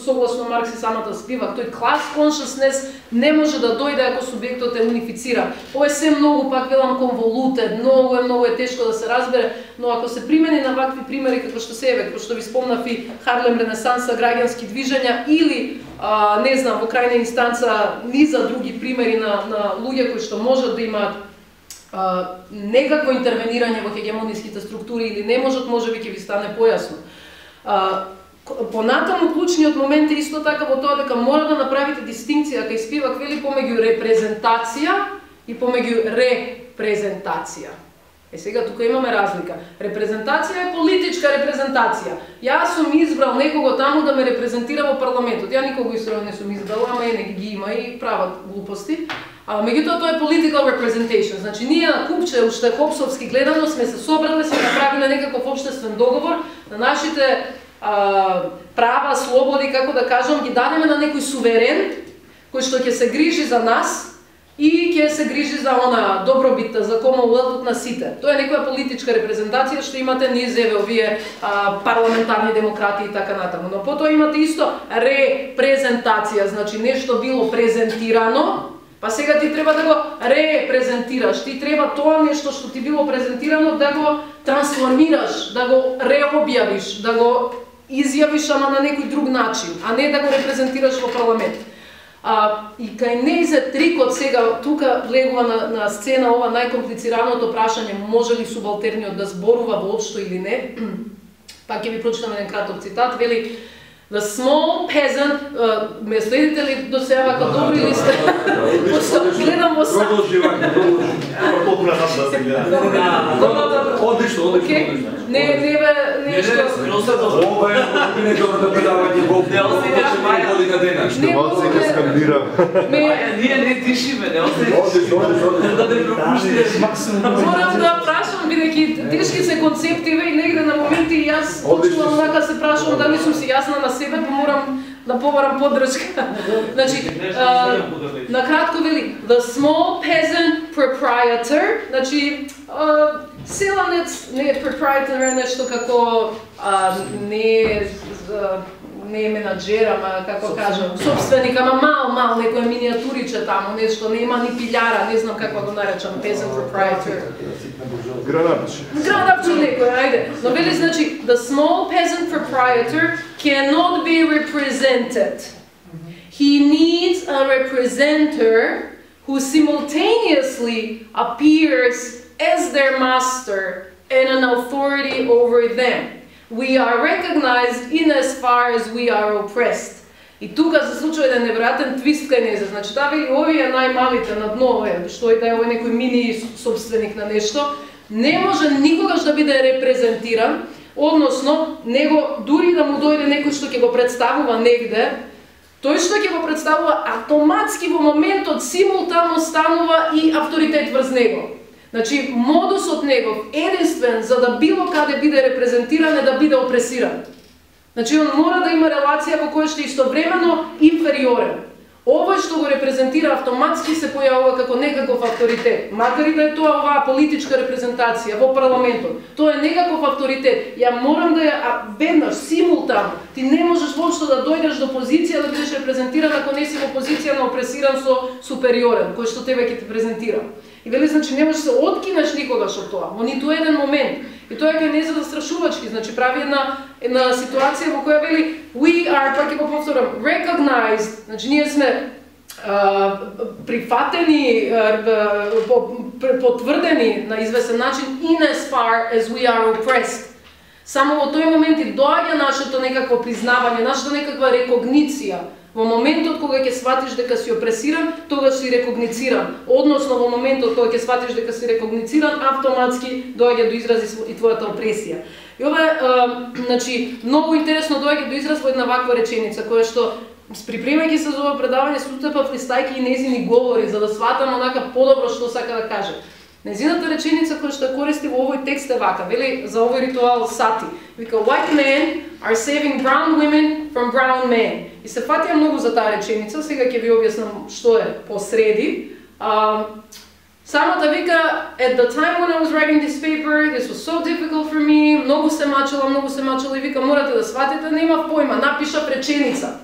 согласно Маркс и самата спивак, тој class consciousness не може да дојде ако субјектот е унифицира. Ова е се многу, пак велам, convoluted, многу е тешко да се разбере, но ако се примени на вакви примери како што се еве, како што ви спомнав и Харлем Ренесанса, граѓански движења или не знам, во крајна инстанца низа други примери на луѓе кои што можат да имаат некакво интервенирање во хегемониските структури или не можат, можеби ќе ви стане појасно. Понатаму клучниот момент е исто така во тоа дека мора да направите дистинкција кај Спивак вели помеѓу репрезентација и помеѓу репрезентација. Сега тука имаме разлика. Репрезентација е политичка репрезентација. Јас сум избрал некого таму да ме репрезентира во парламентот. Ја никого историја не сум избрала, ама не ги има и прават глупости. Меѓутоа тоа е political representation. Значи ние на купче уште хопсовски гледано сме се собрале, сме направиле некаков општествен договор на нашите права, слободи, како да кажам, ги дадеме на некој суверен кој што ќе се грижи за нас и ќе се грижи за она добробитта, за комонуелтот на сите. Тоа е некоја политичка репрезентација што имате низ еве овие парламентарни демократи и така натаму. Но потоа имате исто репрезентација, значи нешто било презентирано, па сега ти треба да го репрезентираш, ти треба тоа нешто што ти било презентирано да го трансформираш, да го реобјавиш, да го изјавиш ама на некој друг начин, а не да го репрезентираш во парламент. И кај нејзе трикот сега, тука влегува на сцена ова најкомплицираното прашање, може ли субалтерниот да зборува воопшто или не. Пак ќе ви прочитам еден краток цитат, вели the small peasant, ме следите ли до сега вака добри или сте? Гледам во сам. Одлично. Не нешто. Ова е недобро предавање во година дена. Што мал се ке скандира. Ние не дишиме, не Одлично. да не пропуштиме максимум. Морам да прашам, бидејќи тешки се концептиве и негде на моменти јас почнувам така се прашувам дали сум си јасна на себе, па морам да побарам поддршка. Значи, на кратко вели, the small peasant proprietor, значи, селанец, не е proprietor, е нешто како, не е менаджер, ама како кажам, собственик, ама мал, некој миниатуриче таму, нешто, нема ни пилјара, не знам како го наречам, peasant proprietor. Гранапче некој, ајде. Но вели, значи, the small peasant proprietor cannot be represented. He needs a representative who simultaneously appears as their master and an authority over them. We are recognized in as far as we are oppressed. И тука се случува еден неверојатен твист кај незе. Значи, таа вели, овие најмалите на дно, што и да е овој некој мини собственик на нешто, не може никогаш да биде репрезентиран, односно, него дури да му дојде некој што ќе го представува негде, тој што ќе го представува автоматски во моментот симултано станува и авторитет врз него. Значи, модусот негов единствен за да било каде биде репрезентиран е да биде опресиран. Значи, он мора да има релација во која што е истовремено инфериорен. Овој што го репрезентира автоматски се појавува како некаков авторитет. Макар и да е тоа оваа политичка репрезентација во парламентот, тоа е некаков авторитет. Ја морам да ја веднаш, симултано. Ти не можеш воопшто да дојдеш до позиција да бидеш репрезентиран ако не си во позиција на опресиран со супериорен, кој што тебе ќе те презентира. И вели, значи, не можеш се откинеш никогаш од тоа, во ниту еден момент. И тоа ќе не за застрашувачки, значи, прави една ситуација во која вели, we are, пак ќе го повторам, recognized, значи, ние сме прифатени, потврдени на известен начин in as far as we are oppressed. Само во тој момент и доаѓа нашето некакво признавање, нашата некаква рекогниција. Во моментот кога ќе сватиш дека си опресиран, тогаш си рекогнициран. Односно во моментот кога ќе сватиш дека си рекогнициран, автоматски доаѓа до изрази и твојата опресија. И ова е, значи, многу интересно доаѓа до израз во една ваква реченица, која што припремајќи се за ова предавање, стутепав листајки и незини говори, за да сватам онака подобро што сака да каже. Незината реченица која што користи во овој текст е вака, вели за овој ритуал сати. Вика, white men are saving brown women from brown men. И се фатија многу за таа реченица, сега ќе ви објаснам што е посреди. Самата вика, at the time when I was writing this paper, this was so difficult for me, многу се мачела и вика, морате да сватите, немав појма, напишав реченица.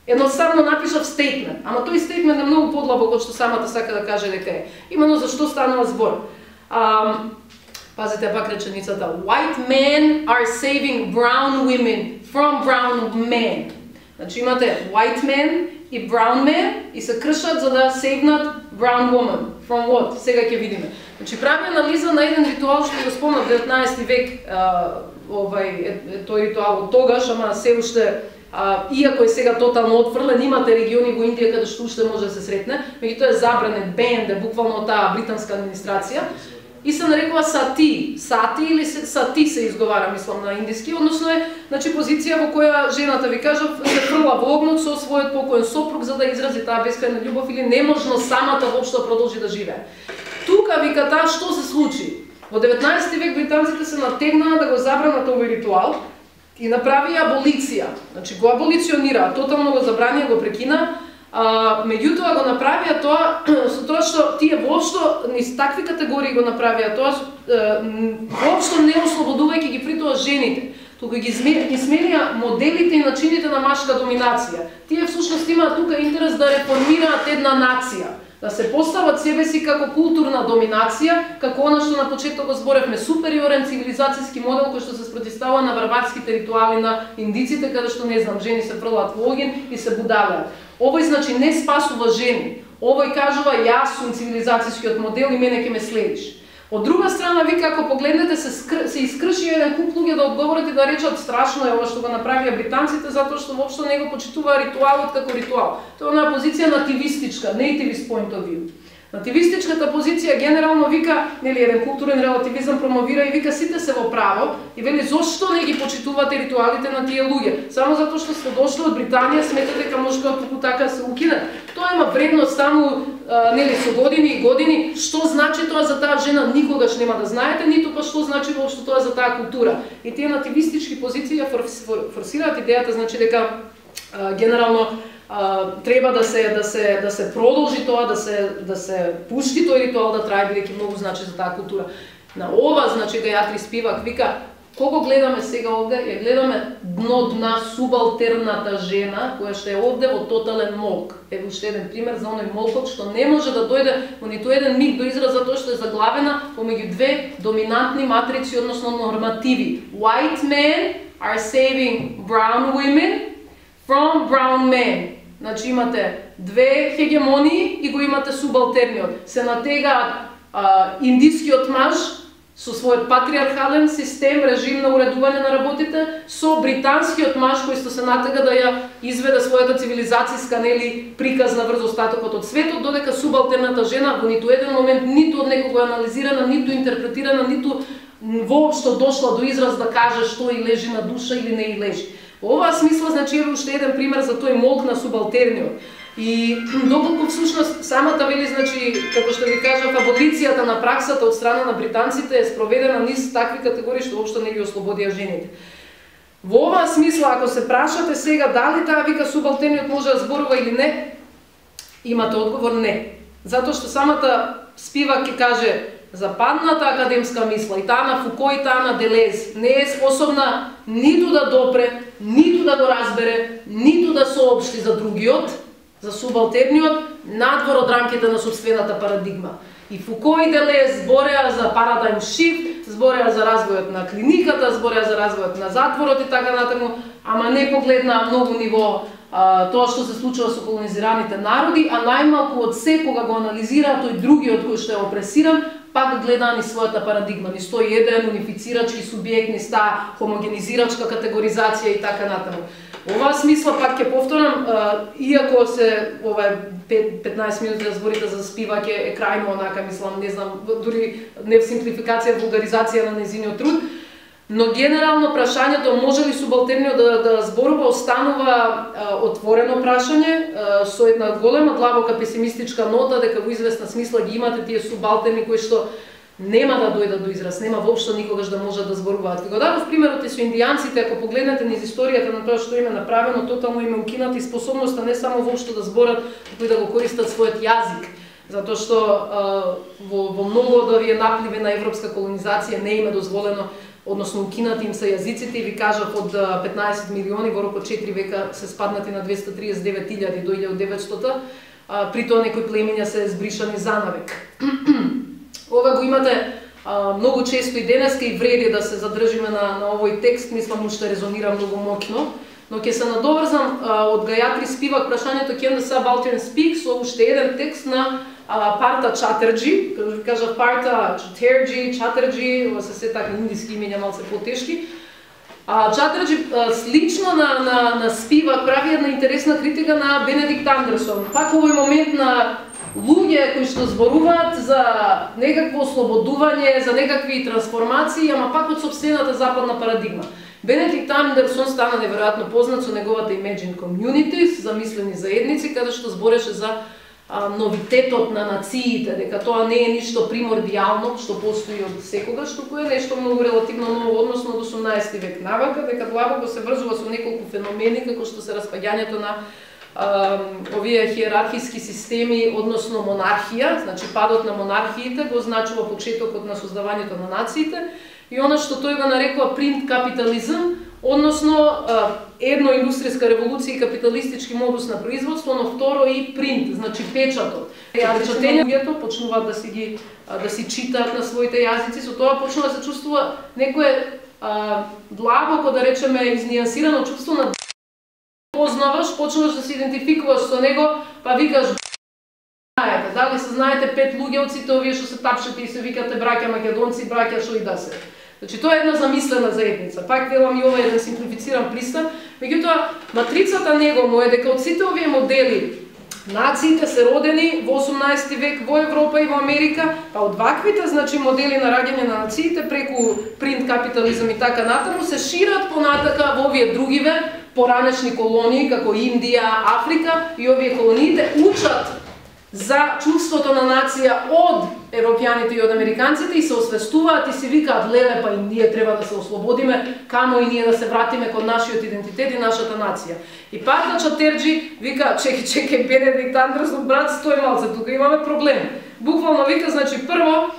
Едноставно напишав стейтмент, ама тој стейтмент е многу подлабок од што самата сака да каже дека е. Именно за што станува збор. Пазите пак реченицата. White men are saving brown women from brown men. Значи имате white men и brown men и се кршат за да сейвнат brown woman. From what? Сега ќе видиме. Значи прави анализа на еден ритуал што го спомнав 19 век, тој ритуал од тогаш, ама се уште иако е сега тотално отфрлен, имате региони во Индија каде што уште може да се сретне, меѓутоа е забранет, бенд е буквално таа британска администрација и се нарекува сати. Сати или сати се изговара, мислам на индиски, односно е, значи, позиција во која жената, ви кажав, се фрла во огнот со својот покоен сопруг за да изрази таа бескрајна љубов или неможно самата воопшто продолжи да живее. Тука вика таа што се случи. Во 19 век британците се натегнаа да го забранат овој ритуал и направи аболиција, значи го аболиционира, тотално го забранија, го прекина, меѓутоа го направија тоа со тоа што тие воопшто низ такви категории го направија тоа, воопшто не ослободувајќи ги при тоа жените, туку ги сменија моделите и начините на машка доминација. Тие всушност имаат тука интерес да реформираат една нација, да се постават себе си како културна доминација, како она што на почеток го зборевме, супериорен цивилизацијски модел кој што се спротивстава на барбарските ритуали на индиците, каде што, не знам, жени се фрлаат во огин и се будалеат. Овој, значи, не спасува жени. Овој кажува, јас сум цивилизацијскиот модел и мене ќе ме следиш. Од друга страна, ви како погледнете, се искрши еден куп луѓе да одговорат и да речат страшно е ова што го направија британците, затоа што воопшто не го почитуваа ритуалот како ритуал. Тоа е онаа позиција нативистичка, nativist point of view. Нативистичката позиција генерално вика, нели, еден културен релативизам промовира и вика сите се во право и вели зошто не ги почитувате ритуалите на тие луѓе? Само затоа што сте дошли од Британија, сметате дека може туку така се укине. Тоа има вредност само нели со години и години. Што значи тоа за таа жена никогаш нема да знаете, ниту па што значи воопшто тоа за таа култура. И тие нативистички позиции форсираат идејата, значи дека генерално треба да се продолжи тоа, да се пушти тој ритуал да трае, бидејќи многу значи за таа култура. На ова, значи, Гајатри Спивак вика, кого гледаме сега овде? Ја гледаме дна субалтерната жена, која што е овде во тотален молк. Еве уште еден пример за оној молкот што не може да дојде во ниту еден миг до израз затоа што е заглавена помеѓу две доминантни матрици, односно нормативи. White men are saving brown women from brown men. Значи имате две хегемонии и го имате субалтерниот. Се натегаат индискиот маж со својот патриархален систем, режим на уредување на работите, со британскиот маж кој што се натега да ја изведе својата цивилизацијска, нели, приказ на врз остатокот од светот, додека субалтерната жена во ниту еден момент ниту од некого анализирана, ниту интерпретирана, ниту воопшто дошла до израз да каже што и лежи на душа или не и лежи. Во оваа смисла, значи, е уште еден пример за тој молк на субалтерниот. И доколку всушност самата вели, значи, како што ви кажав, аболицијата на праксата од страна на британците е спроведена низ такви категории што воопшто не ги ослободија жените. Во оваа смисла, ако се прашате сега дали таа вика субалтерниот може да зборува или не, имате одговор не. Затоа што самата Спивак ќе каже западната академска мисла, и таа на Фуко и таа на Делез, не е способна ниту да допре, ниту да го разбере, ниту да соопшти за другиот, за субалтерниот, надвор од рамките на собствената парадигма. И Фуко и Делез збореа за парадайм шифт, збореа за развојот на клиниката, збореа за развојот на затворот и така натаму, ама не погледнаа многу ниво тоа што се случува со колонизираните народи, а најмалку од се кога го анализираа тој другиот кој што е опресиран, пак гледаа ни својата парадигма, ни стои еден унифицирачки субјект, ни ста хомогенизирачка категоризација и така натаму. Оваа смисла пак ќе повторам, иако се ова 15 минути да зборите за спивање е крајно онака, мислам, не знам, дури не в симплификација, вулгаризација на нејзиниот труд, но генерално прашањето може ли субалтерниот да зборува останува отворено прашање со една голема длабока песимистичка нота дека во известна смисла ги имате тие субалтерни кои што нема да дојдат до израз, нема воопшто никогаш да можат да зборуваат. Ви го дадов примерот и со индијанците, ако погледнете низ историјата на тоа што им е направено, тотално им е укината и способноста не само воопшто да зборат, туку и да го користат својот јазик. Затоа што во многу од овие напливи на европска колонизација не им е дозволено, односно укинати им се јазиците и ви кажав од 15 милиони во рок од 4 века се спаднати на 239.000 до 1900, при тоа некои племиња се збришани занавек. Ова го имате многу често и денеска и вреди да се задржиме на овој текст, мислам уште резонира многу моќно, но ќе се надоврзам од Гајатри Спивак прашањето Can the Subaltern Speak со уште еден текст на Парта Чатерџи, како ви кажав Парта Чатерџи, ова се се така индиски имења малце потешки. Чатерџи слично на Спивак прави една интересна критика на Бенедикт Андерсон. Пак овој момент на луѓе кои што зборуваат за некакво ослободување, за некакви трансформации, ама пак од сопствената западна парадигма. Бенедикт Андерсон стана неверојатно познат со неговата Imagine Communities, замислени заедници, каде што збореше за новитетот на нациите, дека тоа не е ништо примордијално што постои од секогаш, туку е нешто многу релативно ново односно од 18 век навака, дека длабоко се врзува со неколку феномени како што се распаѓањето на овие хиерархиски системи, односно монархија, значи падот на монархиите го означува почетокот на создавањето на нациите и она што тој го нарекува принт капитализм, односно едно индустријска револуција и капиталистички модус на производство, но второ и принт, значи печатот. Печатењето почнуваат да си читаат на своите јазици, со тоа почнува да се чувствува некое длабоко, да речеме, изнијансирано чувство на познаваш, почнуваш да се идентификуваш со него, па викаш знаете, дали се знаете 5 луѓе од сите овие што се тапшете и се викате браќа македонци, браќа шо и да се. Значи тоа е една замислена заедница. Пак велам и ова е еден симплифициран пристап, меѓутоа матрицата него му е дека од сите овие модели нациите се родени во 18 век во Европа и во Америка, па од ваквите значи модели на раѓање на нациите преку принт капитализам и така натаму се шират понатака во овие другиве поранешни колонии како Индија, Африка и овие колониите учат за чувството на нација од европјаните и од американците и се освестуваат и си викаат леле па и ние треба да се ослободиме, камо и ние да се вратиме кон нашиот идентитет и нашата нација. И пак на Чатерџи вика чеки Бенедикт Андерсон брат стој малце, тука имаме проблем. Буквално вика значи прво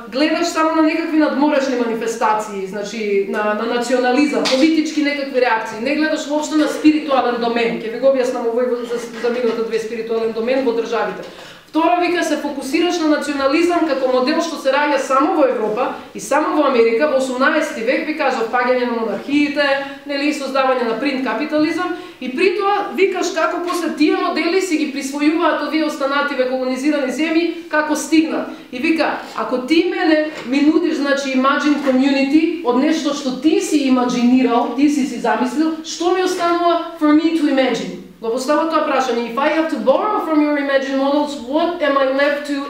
гледаш само на некакви надморешни манифестации, значи на национализам, политички некакви реакции, не гледаш воопшто на спиритуален домен. Ќе ви го објаснам овој за минута две спиритуален домен во државите. Второ вика се фокусираш на национализам како модел што се раѓа само во Европа и само во Америка во 18 век, ви кажа паѓање на монархиите, нели создавање на принт капитализам и при тоа викаш како после тие модели си ги присвојуваат овие останативе колонизирани земји како стигнат. И вика, ако ти мене ми нудиш значи Imagine Community од нешто што ти си имаџинирал, ти си замислил, што ми останува for me to imagine? Го постава тоа прашање, if I have to borrow from your imagined models, what am I left to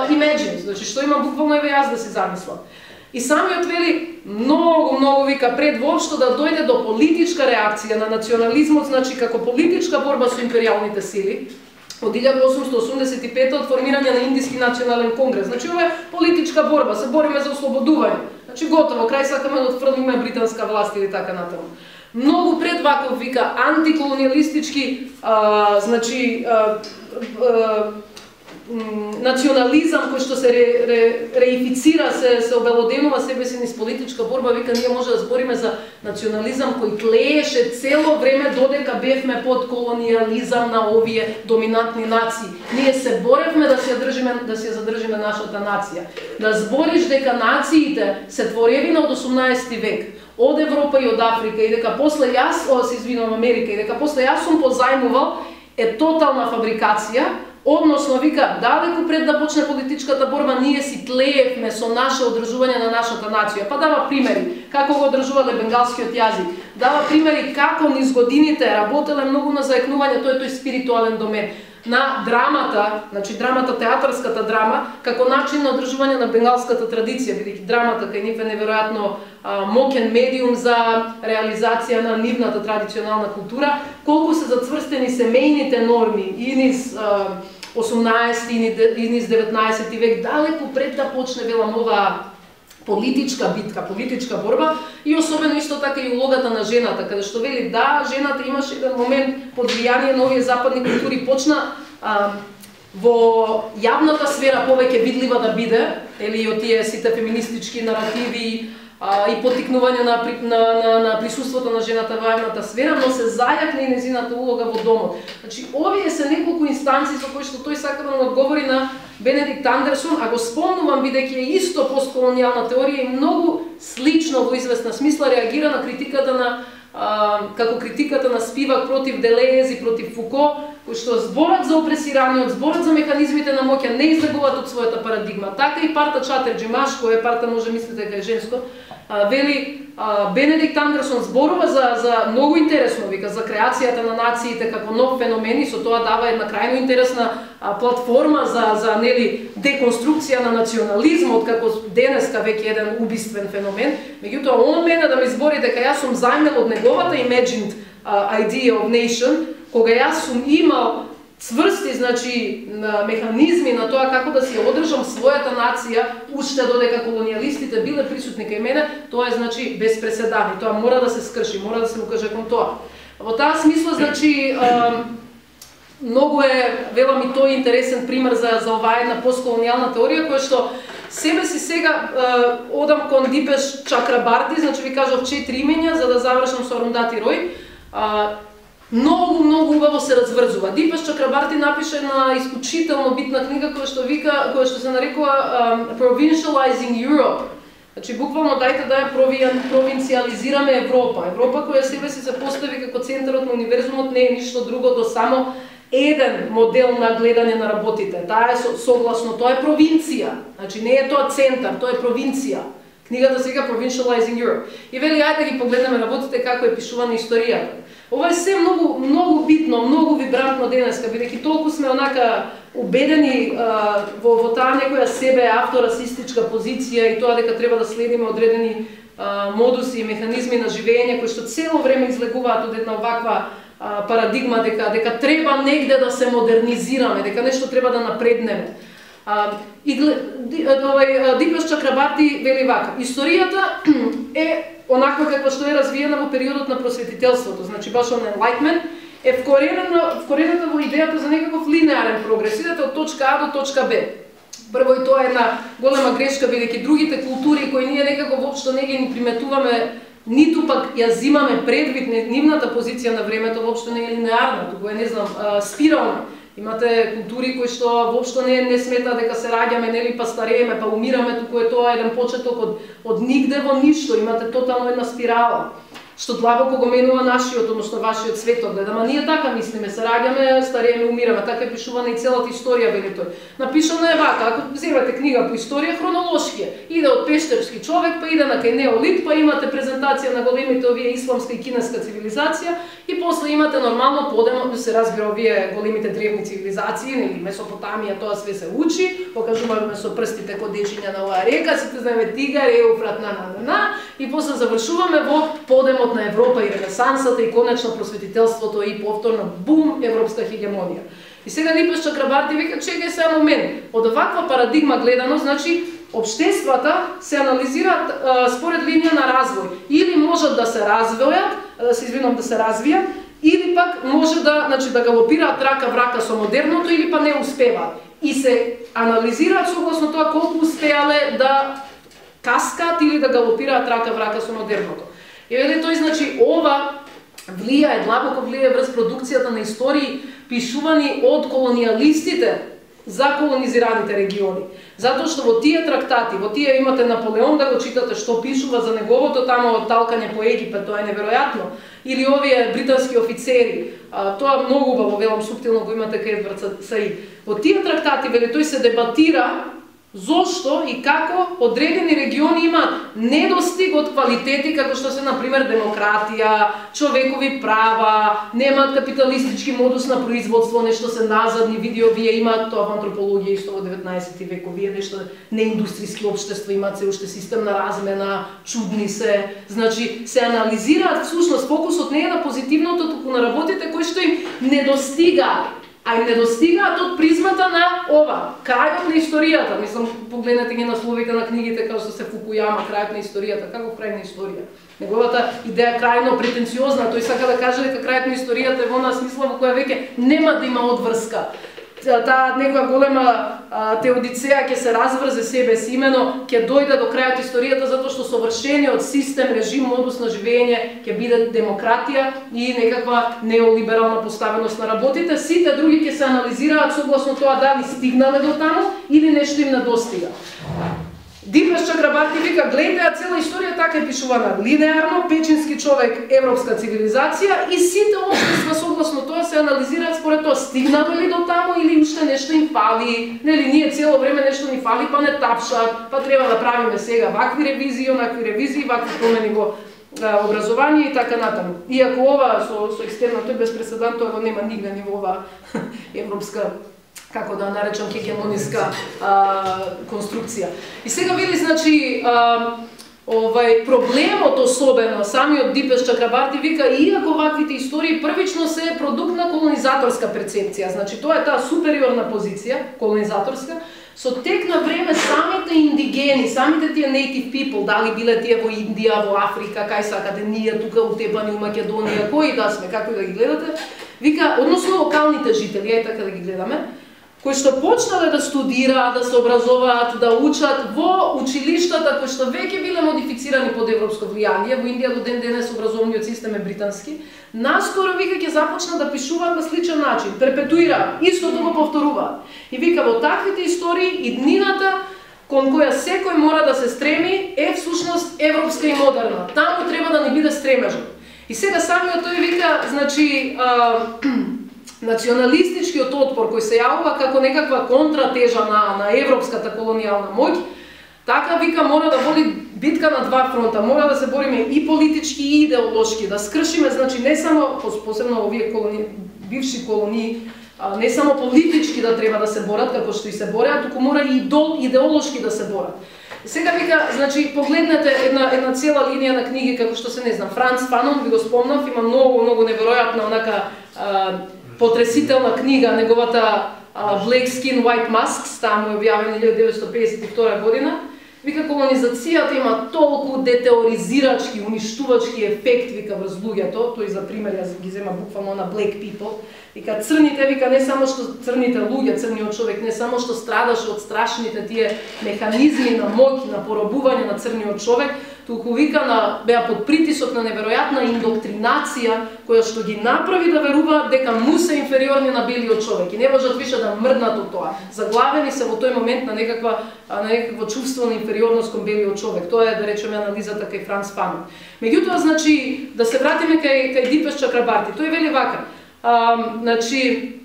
imagine? Значи, што имам буквално еве јас да си замислам. И самиот вели, многу вика пред воопшто да дојде до политичка реакција на национализмот, значи како политичка борба со империјалните сили, од 1885 од формирање на Индиски национален конгрес. Значи, ова е политичка борба, се бориме за ослободување. Значи, готово, крај сакаме да отфрлиме британска власт или така натаму. Многу пред ваков вика антиколониалистички значи национализам кој што се реифицира, се обелоденува себе си низ политичка борба, вика ние може да збориме за национализам кој тлееше цело време додека бевме под колониализам на овие доминантни нации. Ние се боревме да си задржиме нашата нација. Да збориш дека нациите се творевина од 18 век, од Европа и од Африка и дека после Америка и дека после јас сум позајмувал е тотална фабрикација. Односно, вика, далеку пред да почне политичката борба, ние си тлеевме со наше одржување на нашата нација. Па дава примери, како го одржувале бенгалскиот јазик. Дава примери како низ годините работеле многу на заекнување тој спиритуален домен. На драмата, значи драмата, театарската драма, како начин на одржување на бенгалската традиција, бидејќи драмата кај нив е неверојатно мокен медиум за реализација на нивната традиционална култура, колку се зацврстени семејните норми и низ 18 и низ 19 век, далеку пред да почне велам оваа политичка битка, политичка борба и особено исто така и улогата на жената, каде што вели да, жената имаше еден момент под влијание на овие западни култури почна во јавната сфера повеќе видлива да биде, или од тие сите феминистички наративи и поттикнување на присуството на жената во јавната сфера, но се зајакне и незината улога во домот. Значи, овие се неколку инстанции со кои што тој сака да му одговори на Бенедикт Андерсон, а го спомнувам бидејќи е исто постколонијална теорија и многу слично во известна смисла реагира на критиката на како критиката на Спивак против Делез и против Фуко, кои што зборат за опресираниот, зборат за механизмите на моќ, не излегуваат од својата парадигма. Така и парта Чатерџи, машко е, парта може мислите дека е женско, вели Бенедикт Андерсон зборува за многу интересно, вика, за креацијата на нациите како нов феномен и со тоа дава една крајно интересна платформа за нели деконструкција на национализмот како денеска веќе еден убиствен феномен. Меѓутоа он мене да ми збори дека јас сум зајмел од неговата imagined idea of nation, кога јас сум имал цврсти, значи, механизми на тоа како да си одржам својата нација, уште додека колонијалистите биле присутни кај мене, тоа е, значи, без преседани. Тоа мора да се скрши, мора да се укаже кон тоа. Во таа смисла, значи, многу е, велам и тој интересен пример за оваа една постколонијална теорија, која што себе си сега одам кон Дипеш Чакрабарти, значи ви кажав 4 имења за да завршам со Арундати Рој. Многу убаво се разврзува. Дипеш Чакрабарти напише една исклучително битна книга која што се нарекува Provincializing Europe. Значи буквално дајте да ја провинциализираме Европа. Европа која себе си се постави како центарот на универзумот не е ништо друго до само еден модел на гледање на работите. Таа е согласно, тоа е провинција. Значи не е тоа центар, тоа е провинција. Книгата се вика Provincializing Europe. И вели ајде да ги погледнеме работите како е пишувана историјата. Ова е се многу битно, многу вибрантно денеска, бидејќи толку сме онака убедени во таа некоја себе авторасистичка позиција и тоа дека треба да следиме одредени модуси и механизми на живење кои што цело време излегуваат од една оваква парадигма дека треба негде да се модернизираме, дека нешто треба да напреднеме. Дипеш Чакрабарти вели вака: историјата е онаква каква што е развиена во периодот на просветителството, значи баш on enlightenment, е вкорената во идејата за некаков линеарен прогрес, идете од точка А до точка Б. Прво и тоа е една голема грешка, бидејќи другите култури кои ние некако воопшто не ги приметуваме, ниту пак ја зимаме предвид, нивната позиција на времето воопшто не е линеарна, туку е, не знам, спирална. Имате култури кои што воопшто не сметаат дека се раѓаме, нели, па старееме, па умираме, туку е тоа еден почеток од нигде во ништо, имате тотално една спирала, што длабоко го менува нашиот, односно вашиот светоглед. Ама ние така мислиме, се раѓаме, старееме, умираме, така е пишувана и целата историја, вели тој. Напишана е вака, ако земете книга по историја, хронолошки е. Иде од пештерски човек, па иде на кај неолит, па имате презентација на големите овие исламска и кинеска цивилизација, и после имате нормално подемо, се разбира овие големите древни цивилизации, нели Месопотамија, тоа све се учи, покажуваме со прстите кодечиња на оваа река, сите знаеме Тигар, Еуфрат, и после завршуваме во подемот на Европа и Ренесансата и конечно просветителството и повторно бум европска хегемонија. И сега Дипеш Чакрабарти вика: чекај сега момент, од оваква парадигма гледано, значи општествата се анализираат според линија на развој. Или можат да се развијат, или пак може да галопираат рака врака со модерното, или па не успеваат. и се анализираат согласно тоа колку успеале да каскаат или да галопираат рака в рака со модерното. И вели тој, значи, ова влијае, длабоко влијае врз продукцијата на истории пишувани од колонијалистите за колонизираните региони. Затоа што во тие трактати, во тие имате Наполеон да го читате што пишува за неговото тамо талкање по Египет, тоа е неверојатно. Или овие британски офицери, тоа многу убаво, велам суптилно го имате кај Едвард Саид. Во тие трактати, вели, тој се дебатира зошто и како одредени региони имаат недостиг од квалитети како што се, например, демократија, човекови права, немаат капиталистички модус на производство, нешто се назадни, види овие имаат тоа во антропологија исто во 19 век, овие нешто неиндустријски општества имаат се уште систем на размена, чудни се, значи се анализираат всушност, фокусот не е на позитивното, туку на работите кои што им недостигаат. А им недостигаат од призмата на ова, крајот на историјата. Мислам, погледнете ги насловите на книгите како што се Фукујама, крајот на историјата, како крај на историја. Неговата идеја крајно претенциозна, тој сака да каже дека крајот на историјата е во нас смисла во која веќе нема да има одврска. Таа некоја голема теодицеја ќе се разврзе себе си, имено ќе дојде до крајот историјата затоа што совршениот систем, режим, модус на живење ќе биде демократија и некаква неолиберална поставеност на работите. Сите други ќе се анализираат согласно тоа дали стигнале до таму или нешто им недостига. Дипес Чакрабарти вика, гледаја цела историја така е пишувана линеарно, печински човек, европска цивилизација и сите општества согласно тоа се анализираат според тоа стигнале ли до таму или уште нешто им фали. Нели ние цело време нешто ни фали, па не тапшат, па треба да правиме сега вакви ревизии, онакви ревизии, вакви промени во образование и така натаму. Иако ова со екстерно тој без прецедент, тоа го нема нигде ни во ова европска, како да наречам, хегемониска конструкција. И сега види, значи, проблемот особено, самиот Дипес Чакрабарти вика, иако ваквите истории првично се продукт на колонизаторска перцепција, значи тоа е таа супериорна позиција, колонизаторска, со тек на време самите индигени, самите тие native people, дали биле тие во Индија, во Африка, кај сакате, ние тука утепани у Македонија, кои да сме, како и да ги гледате, вика, односно локалните жители, е така да ги гледаме, кои што почнале да студираат, да се образуваат, да учат во училиштата кои што веќе биле модифицирани под европско влијание, во Индија до ден денес образовниот систем е британски, наскоро вика ќе започнат да пишуваат на сличен начин, перпетуираат, истото го повторуваат. И вика во таквите истории иднината кон која секој мора да се стреми е всушност европска и модерна. Таму треба да ни биде стремежот. И сега самиот тој вика, значи, националистичкиот отпор кој се јавува како некаква контратежа на европската колонијална моќ, така вика мора да води битка на два фронта, мора да се бориме и политички и идеолошки, да скршиме, значи не само, посебно овие бивши колонии, не само политички да треба да се борат, како што и се бореат, туку мора и идеолошки да се борат. Сега вика, значи, погледнете една цела линија на книги, како што се, не знам, Франц Фанон, ви го спомнав, има многу неверојатна, онака, потресителна книга, неговата Black Skin, White Masks, таму е објавена 1952 година. Вика, колонизацијата има толку детеоризирачки, уништувачки ефект, вика, врз луѓето, тој за пример, јас ги зема буквално на Black People, вика, црните, вика, не само што црните луѓе, црниот човек, не само што страдаше од страшните тие механизми на моќ, на поробување на црниот човек, туку вика беа под притисок на неверојатна индоктринација која што ги направи да веруваат дека му се инфериорни на белиот човек и не можат више да мрднат од тоа. Заглавени се во тој момент на некакво чувство на инфериорност кон белиот човек. Тоа е, да речеме, анализата кај Франц Фанон. Меѓутоа, значи, да се вратиме кај Дипес Чакрабарти. Тој вели вака, значи,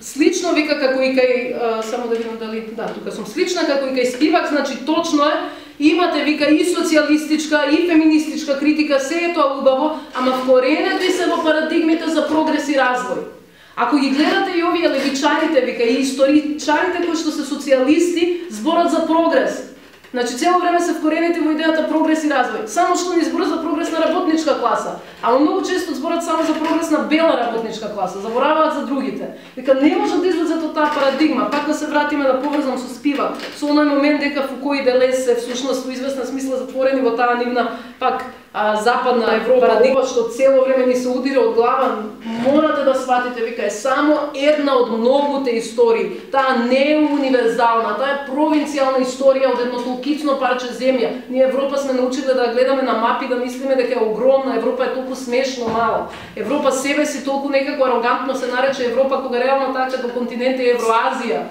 слично вика како и кај, само да видам дали, да, тука сум, слична како и кај Спивак, значи точно е, имате, вика, и социјалистичка, и феминистичка критика, се е тоа убаво, ама вкоренети се во парадигмите за прогрес и развој. Ако ги гледате и овие левичарите, вика, и историчарите кои што се социјалисти, зборат за прогрес. Значи, цело време се вкорените во идејата прогрес и развој. Само што не зборат за прогрес на работничка класа, а многу често зборат само за прогрес на бела работничка класа, забораваат за другите. Вика, не можат да излезат од таа парадигма, пак да се вратиме да поврзам со Спивак, со оној момент дека Фуко и Делез се всушност во известна смисла затворени во таа нивна пак западна Европа, ова што цело време ни се удира од глава, морате да сватите, вика, е само една од многуте истории. Таа не е универзална, таа е провинцијална историја од едно толкично парче земја. Ние Европа сме научиле да гледаме на мапи, да мислиме дека е огромна, Европа е толку смешно мала. Европа себе си толку некако арогантно се нарече Европа, кога реално така како континент е Евроазија.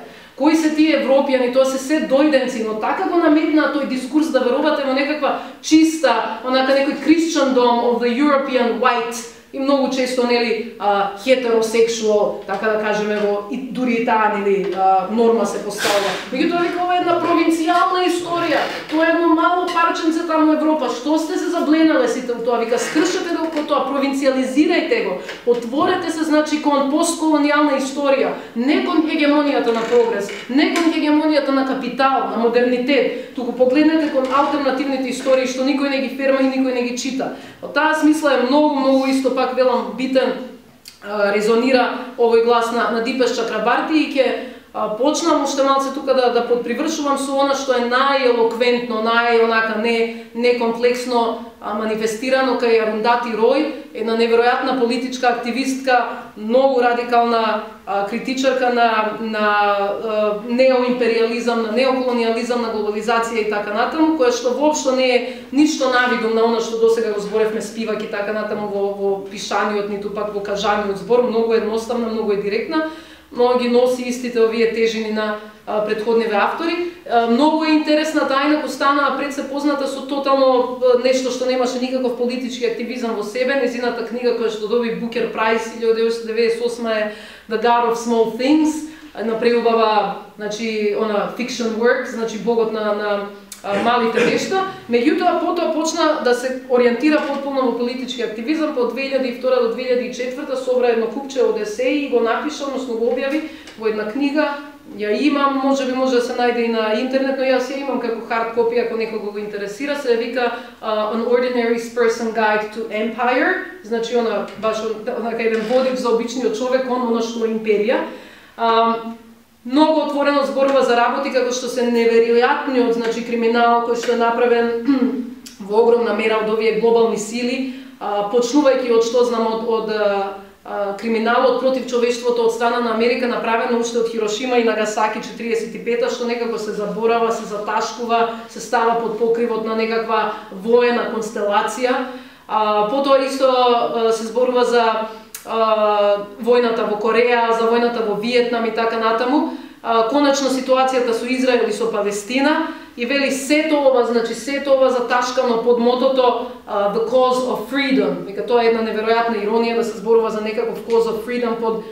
Кои се тие европјани, тоа се дојденци, но така го наметна тој дискурс да верувате во некаква чиста, онака некој Christendom of the European white, и многу често нели heterosexual, така да кажеме, во и дури и таа нели норма се поставува. Меѓутоа вика ова е една провинцијална историја. Тоа е едно мало парченце таму Европа. Што сте се забленале сите во тоа? Вика, скршете го по тоа, провинцијализирајте го. Отворете се значи кон постколонијална историја, не кон хегемонијата на прогрес, не кон хегемонијата на капитал, на модернитет, туку погледнете кон алтернативните истории што никој не ги ферма и никој не ги чита. Во таа смисла е многу исто пак велам битен, резонира овој глас на Дипеш Чакрабарти и ќе почнам уште малце тука да подпривршувам со она што е најелоквентно, онака не комплексно манифестирано кај Арундати Рој, една неверојатна политичка активистка, многу радикална критичарка на неоимпериализам, на неоколониализам, на глобализација и така натаму, која што воопшто не е ништо навидум на она што досега го зборевме спиваки така натаму во пишаниот, ниту пак во кажаниот збор, многу едноставна, многу е директна, но ги носи истите овие тежини на претходниве автори. Многу е интересна, тајна останаа пред се позната со тотално нешто што немаше никаков политички активизам во себе. Незината книга која што доби Букер Прайс 1998 е The God of Small Things, на преубава, значи, она fiction work, значи богот на малите нешта. Меѓутоа потоа почна да се ориентира потполно во политички активизам. По 2002 до 2004 собра едно купче од есеи и го напиша, односно го објави во една книга. Ја имам, може да се најде и на интернет, но јас ја имам како хард копи, ако некого го интересира, се вика An Ordinary Person Guide to Empire, значи она баш онака еден водич за обичниот човек, она што е империја. Многу отворено зборува за работи како што се неверојатниот, значи криминал кој што е направен во огромна мера од овие глобални сили, почнувајќи од што знам од криминалот против човештвото од страна на Америка, направено уште од Хирошима и Нагасаки 45-та, што некако се заборава, се заташкува, се става под покривот на некаква воена констелација. Потоа исто се зборува за војната во Кореја, за војната во Виетнам и така натаму. Конечно ситуацијата со Израел и со Палестина и вели сето ова, значи сето ова заташкано под мотото The Cause of Freedom. Вика, тоа е една неверојатна иронија да се зборува за некаков Cause of Freedom под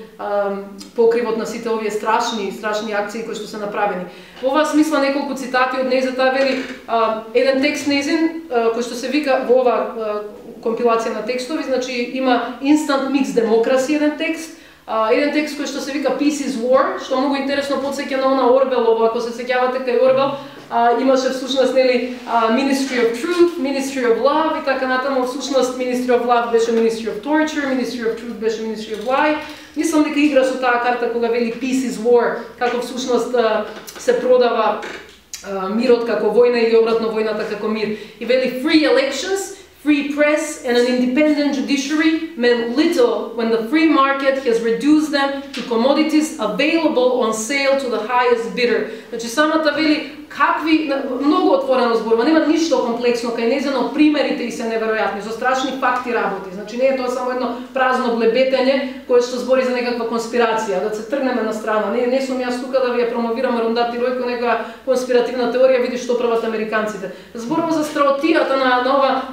покривот на сите овие страшни акции кои што се направени. Во оваа смисла неколку цитати од нејзата, вели еден текст нејзин кој што се вика во ова компилација на текстови, значи има Instant Mix Democracy еден текст кој што се вика Peace is War, што многу интересно потсеќа на она Орбелово, ако се сеќавате кај Орбел, имаше всушност нели Ministry of Truth, Ministry of Love и така натаму. Всушност Ministry of Love беше Ministry of Torture, Ministry of Truth беше Ministry of Lie. Мислам дека игра со таа карта кога вели Peace is War, како всушност се продава мирот како војна или обратно војната како мир. И вели Free elections, free press and an independent judiciary meant little when the free market has reduced them to commodities available on sale to the highest bidder. Значи самата вели какви многу отворено зборува, нема ништо комплексно кај нејзино, примерите и се неверојатни, со страшни факти работи. Значи не е тоа само едно празно блебетење кое што збори за некаква конспирација, да се тргнеме на страна. Не сум јас тука да ви ја промовирам Арундати Рој кој некоја конспиративна теорија, види што прават американците. Зборува за страотијата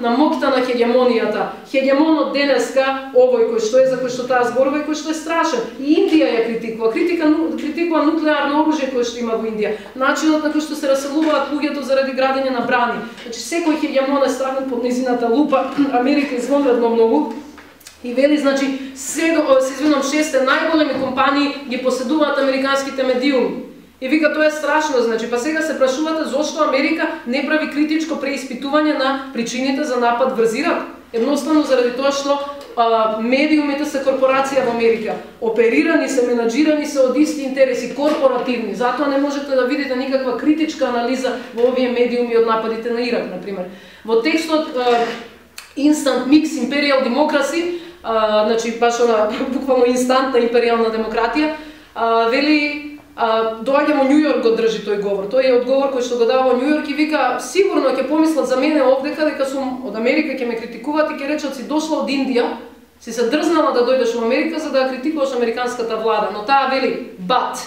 на моќта на хегемонијата. Хегемонот денеска, овој кој што е, за кој што таа зборува и кој што е страшен. И Индија ја критикува нуклеарно оружје кое што има во Индија. Начинот на кој што се раселуваат луѓето заради градење на брани. Значи секој хегемон е ставен под нејзината лупа. Америка извонредно многу. И вели, значи, се извинам, 6 најголеми компании ги поседуваат американските медиуми. И вика, тоа е страшно, значи, па сега се прашувате зошто Америка не прави критичко преиспитување на причините за напад врз Ирак. Едноставно заради тоа што медиумите се корпорација во Америка. Оперирани се, менаџирани се од исти интереси, корпоративни. Затоа не можете да видите никаква критичка анализа во овие медиуми од нападите на Ирак, например. Во текстот instant mix imperial democracy, значи баш она буквално инстантна империјална демократија, вели доаѓам во Њу Јорк го држи тој говор. Тој е одговор кој што го дава во Њу Јорк и вика сигурно ќе помислат за мене овдека дека сум од Америка, ќе ме критикуваат и ќе речат си дошла од Индија, си се дрзнала да дојдеш во Америка за да критикуваш американската влада, но таа вели but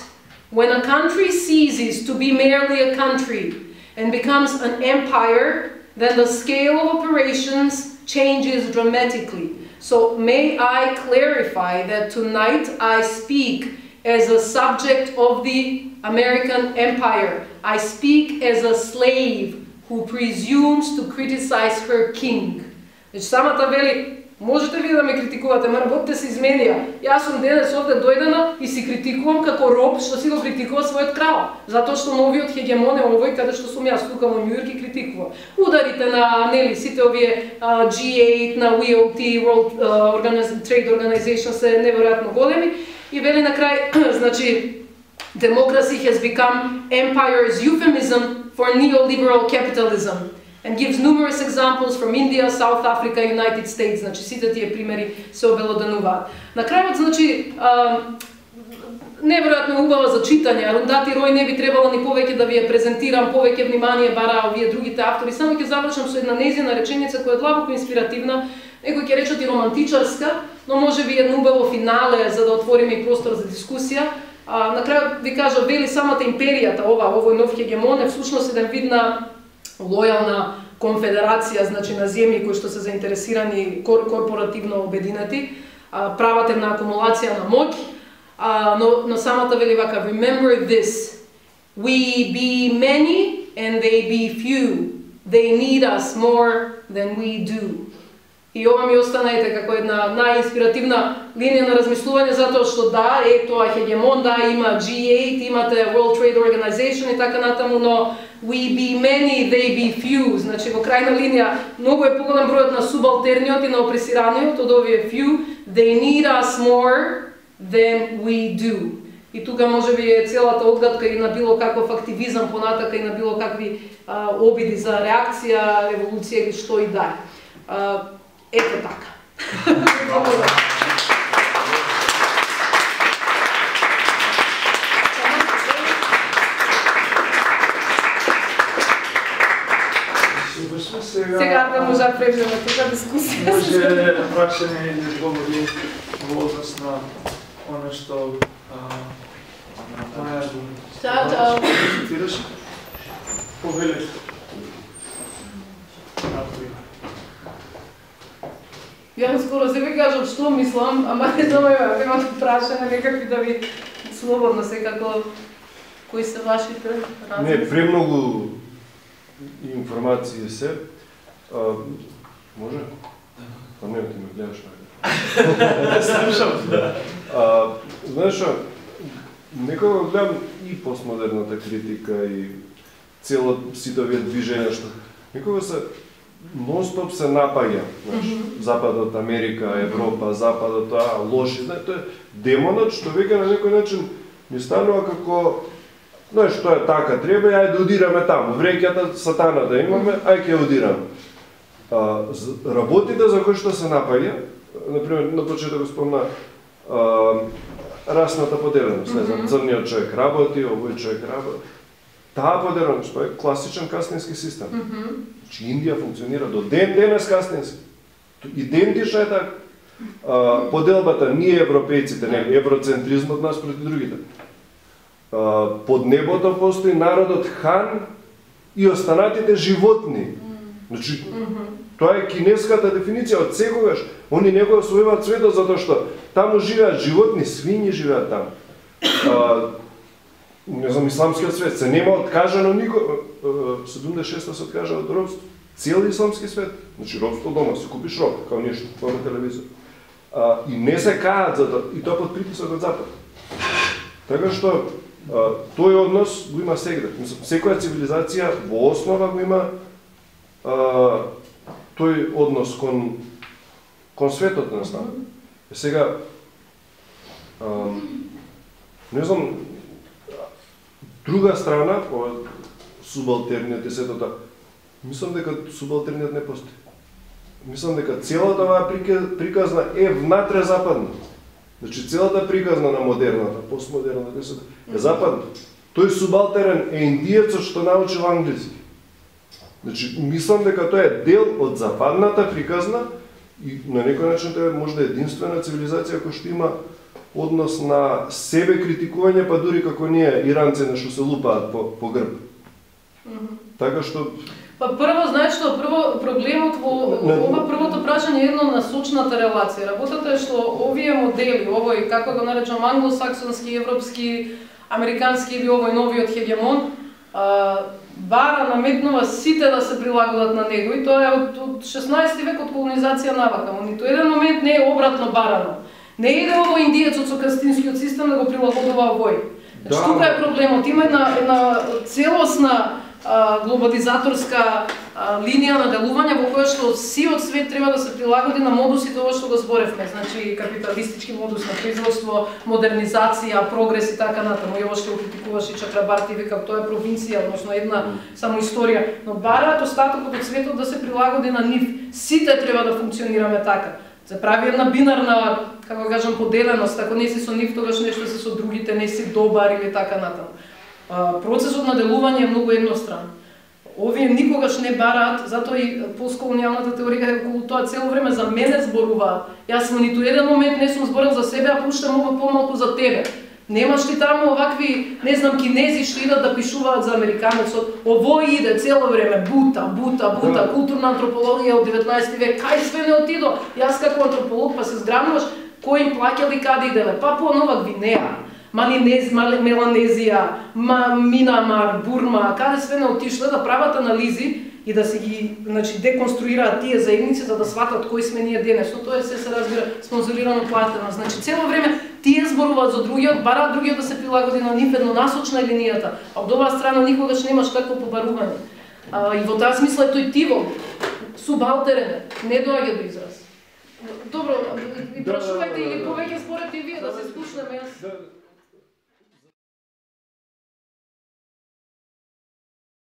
when a country ceases to be merely a country and becomes an empire, then the scale of operations changes dramatically. So may I clarify that tonight I speak as a subject of the American empire. I speak as a slave who presumes to criticize her king. Значи самата вели, можете ви да ме критикувате, ма работите се изменија. Јас сум денес овде дојдена и си критикувам како роб што си го критикува својот крал, затоа што новиот хегемон е овој каде што сум јас тука во Њу Јорк и критикува. Ударите на нели сите овие G8, на WTO, World Trade Organization се неверојатно големи и вели на крај, значи democracy has become empire's euphemism for neoliberal capitalism. And gives numerous examples from India, South Africa, United States. Значи сите тие примери се обелодануваат. На крајот, значи, неверојатно убава за читање. Арундати Рој не би требало ни повеќе да ви ја презентирам, повеќе внимание бараа овие другите автори. Само ќе завршам со една нејзина реченица која е длабоко инспиративна, некои ќе речат и романтичарска, но може би едно убаво финале за да отвориме и простор за дискусија. На крајот ви кажа, вели самата империјата, овој нов хегемон е всушност еден вид на лојална конфедерација, значи на земји кои што се заинтересирани корпоративно обединети, прават една акумулација на моќ, но самата вели вака, remember this, we be many and they be few, they need us more than we do. И ова ми остана како една најинспиративна линија на размислување, затоа што да, тоа хегемон, да, има G8, имате World Trade Organization и така натаму, но we be many, they be few. Значи, во крајна линија, многу е поголем бројот на субалтерниот и на опресираниот од овие few, they need us more than we do. И тука може би е целата одгадка и на било каков активизам понатака и на било какви обиди за реакција, револуција или што и да е. Ето така. Сега да може да превземе тука дискусија. Може прашање или одговори во однос на оно што Маја го цитираше. Повелете. Јас скоро се ви кажам што мислам, ама не знам, имам прашање некакви да ви слободно секако кои се вашите разлики. Не, премногу информации се. Може? Па не, ти ме гледаш најде. Слушам. Знаеш што, некога гледам и постмодерната критика и цело сите овие движења што некога се нон-стоп се напаѓа, знаеш, Западот, Америка, Европа, Западот, лоши, знаеш, тоа е демонот што веќе на некој начин ми станува како, знаеш, тоа е така, треба и ајде да удираме таму, вреќата сатана да имаме, ајде ќе удираме. Работите за кои што се напаѓа, например, на почеток го спомна расната поделеност, не знам, црниот човек работи, овој човек работи. Таа поделеност, тоа е класичен кастински систем. Значи Индија функционира до денес кастински. Идентична е така. Поделбата, ние европејците, не, евроцентризмот нас проти другите. Под небото постои народот хан и останатите животни. Значи, тоа е кинеската дефиниција од секогаш. Они не го освојуваат светот затоа што таму живеат животни, свињи живеат таму. Не знам, исламскиот свет се нема откажано никој. 76-та се откажа од робство. Цел исламски свет. Значи робство дома, си купиш роб, као нешто, као на телевизор. И не се каат за тоа, и тоа под притисок од Запад. Така што тој однос го има сегде. Секоја цивилизација во основа го има тој однос кон светот на стан. Сега, не знам, друга страна, субалтерниот и сето тоа, мислам дека субалтерниот не постои. мислам дека целата оваа приказна е внатре западна. Значи целата приказна на модерната, постмодерната е западна. Тој субалтерен е индиецот што научил англиски. Значи, мислам дека тоа е дел од западната приказна и на некој начин тоа е можда единствена цивилизација која што има однос на себе критикување, па дури како ние иранци нешто се лупаат по грб. Така што Па прво, знаеш што, проблемот во ова првото прашање е едно насочната релација. Работата е што овие модели, овој, како го наречам, англосаксонски, европски, американски или овој новиот хегемон, бара наметнува сите да се прилагодат на него и тоа е од 16 век од колонизација навака. Ниту еден момент не е обратно барано. Не иде овој индиецот со кастинскиот систем да го прилагодува овој. Значи, тука е проблемот. Има една целосна глобализаторска линија на делување во која што сиот свет треба да се прилагоди на модусите ова што го зборевме, значи капиталистички модус на производство, модернизација, прогрес и така натаму. И ова што го критикуваш и Чакрабарти вика тоа е провинција, односно една само историја, но бараат остатокот од светот да се прилагоди на нив. Сите треба да функционираме така. Се прави една бинарна, како да кажам, поделеност, ако не си со нив, тогаш нешто си со другите, не си добар или така натаму. Процесот на делување е многу едностран. Овие никогаш не бараат, затоа и постколонијалната теорија околу тоа цело време за мене зборуваат. Јас во ниту еден момент не сум зборил за себе, а пуштам ова помалку за тебе. Немаш ли таму овакви, не знам, кинези што идат да пишуваат за американецот, овој иде цело време, бута, културна антропологија од 19 век, кај све не отидо? Јас како антрополог па се зграмуваш, кој им плаќали, каде иделе? Папуа Нова Гвинеја, Меланезија, Минамар, Бурма, каде све не отишле да прават анализи и да се ги, значи, деконструираат тие заедници за да сватат кои сме ние денес. Но тоа се разбира спонзорирано, платено. Значи цело време тие зборуваат за другиот, бараат другиот да се прилагоди на нив еднонасочна линијата, а од оваа страна никогаш немаш такво побарување. И во таа смисла е тој тиво, субалтерен, не доаѓа до израз. Добро, прашувајте или повеќе според и вие да се спушнеме.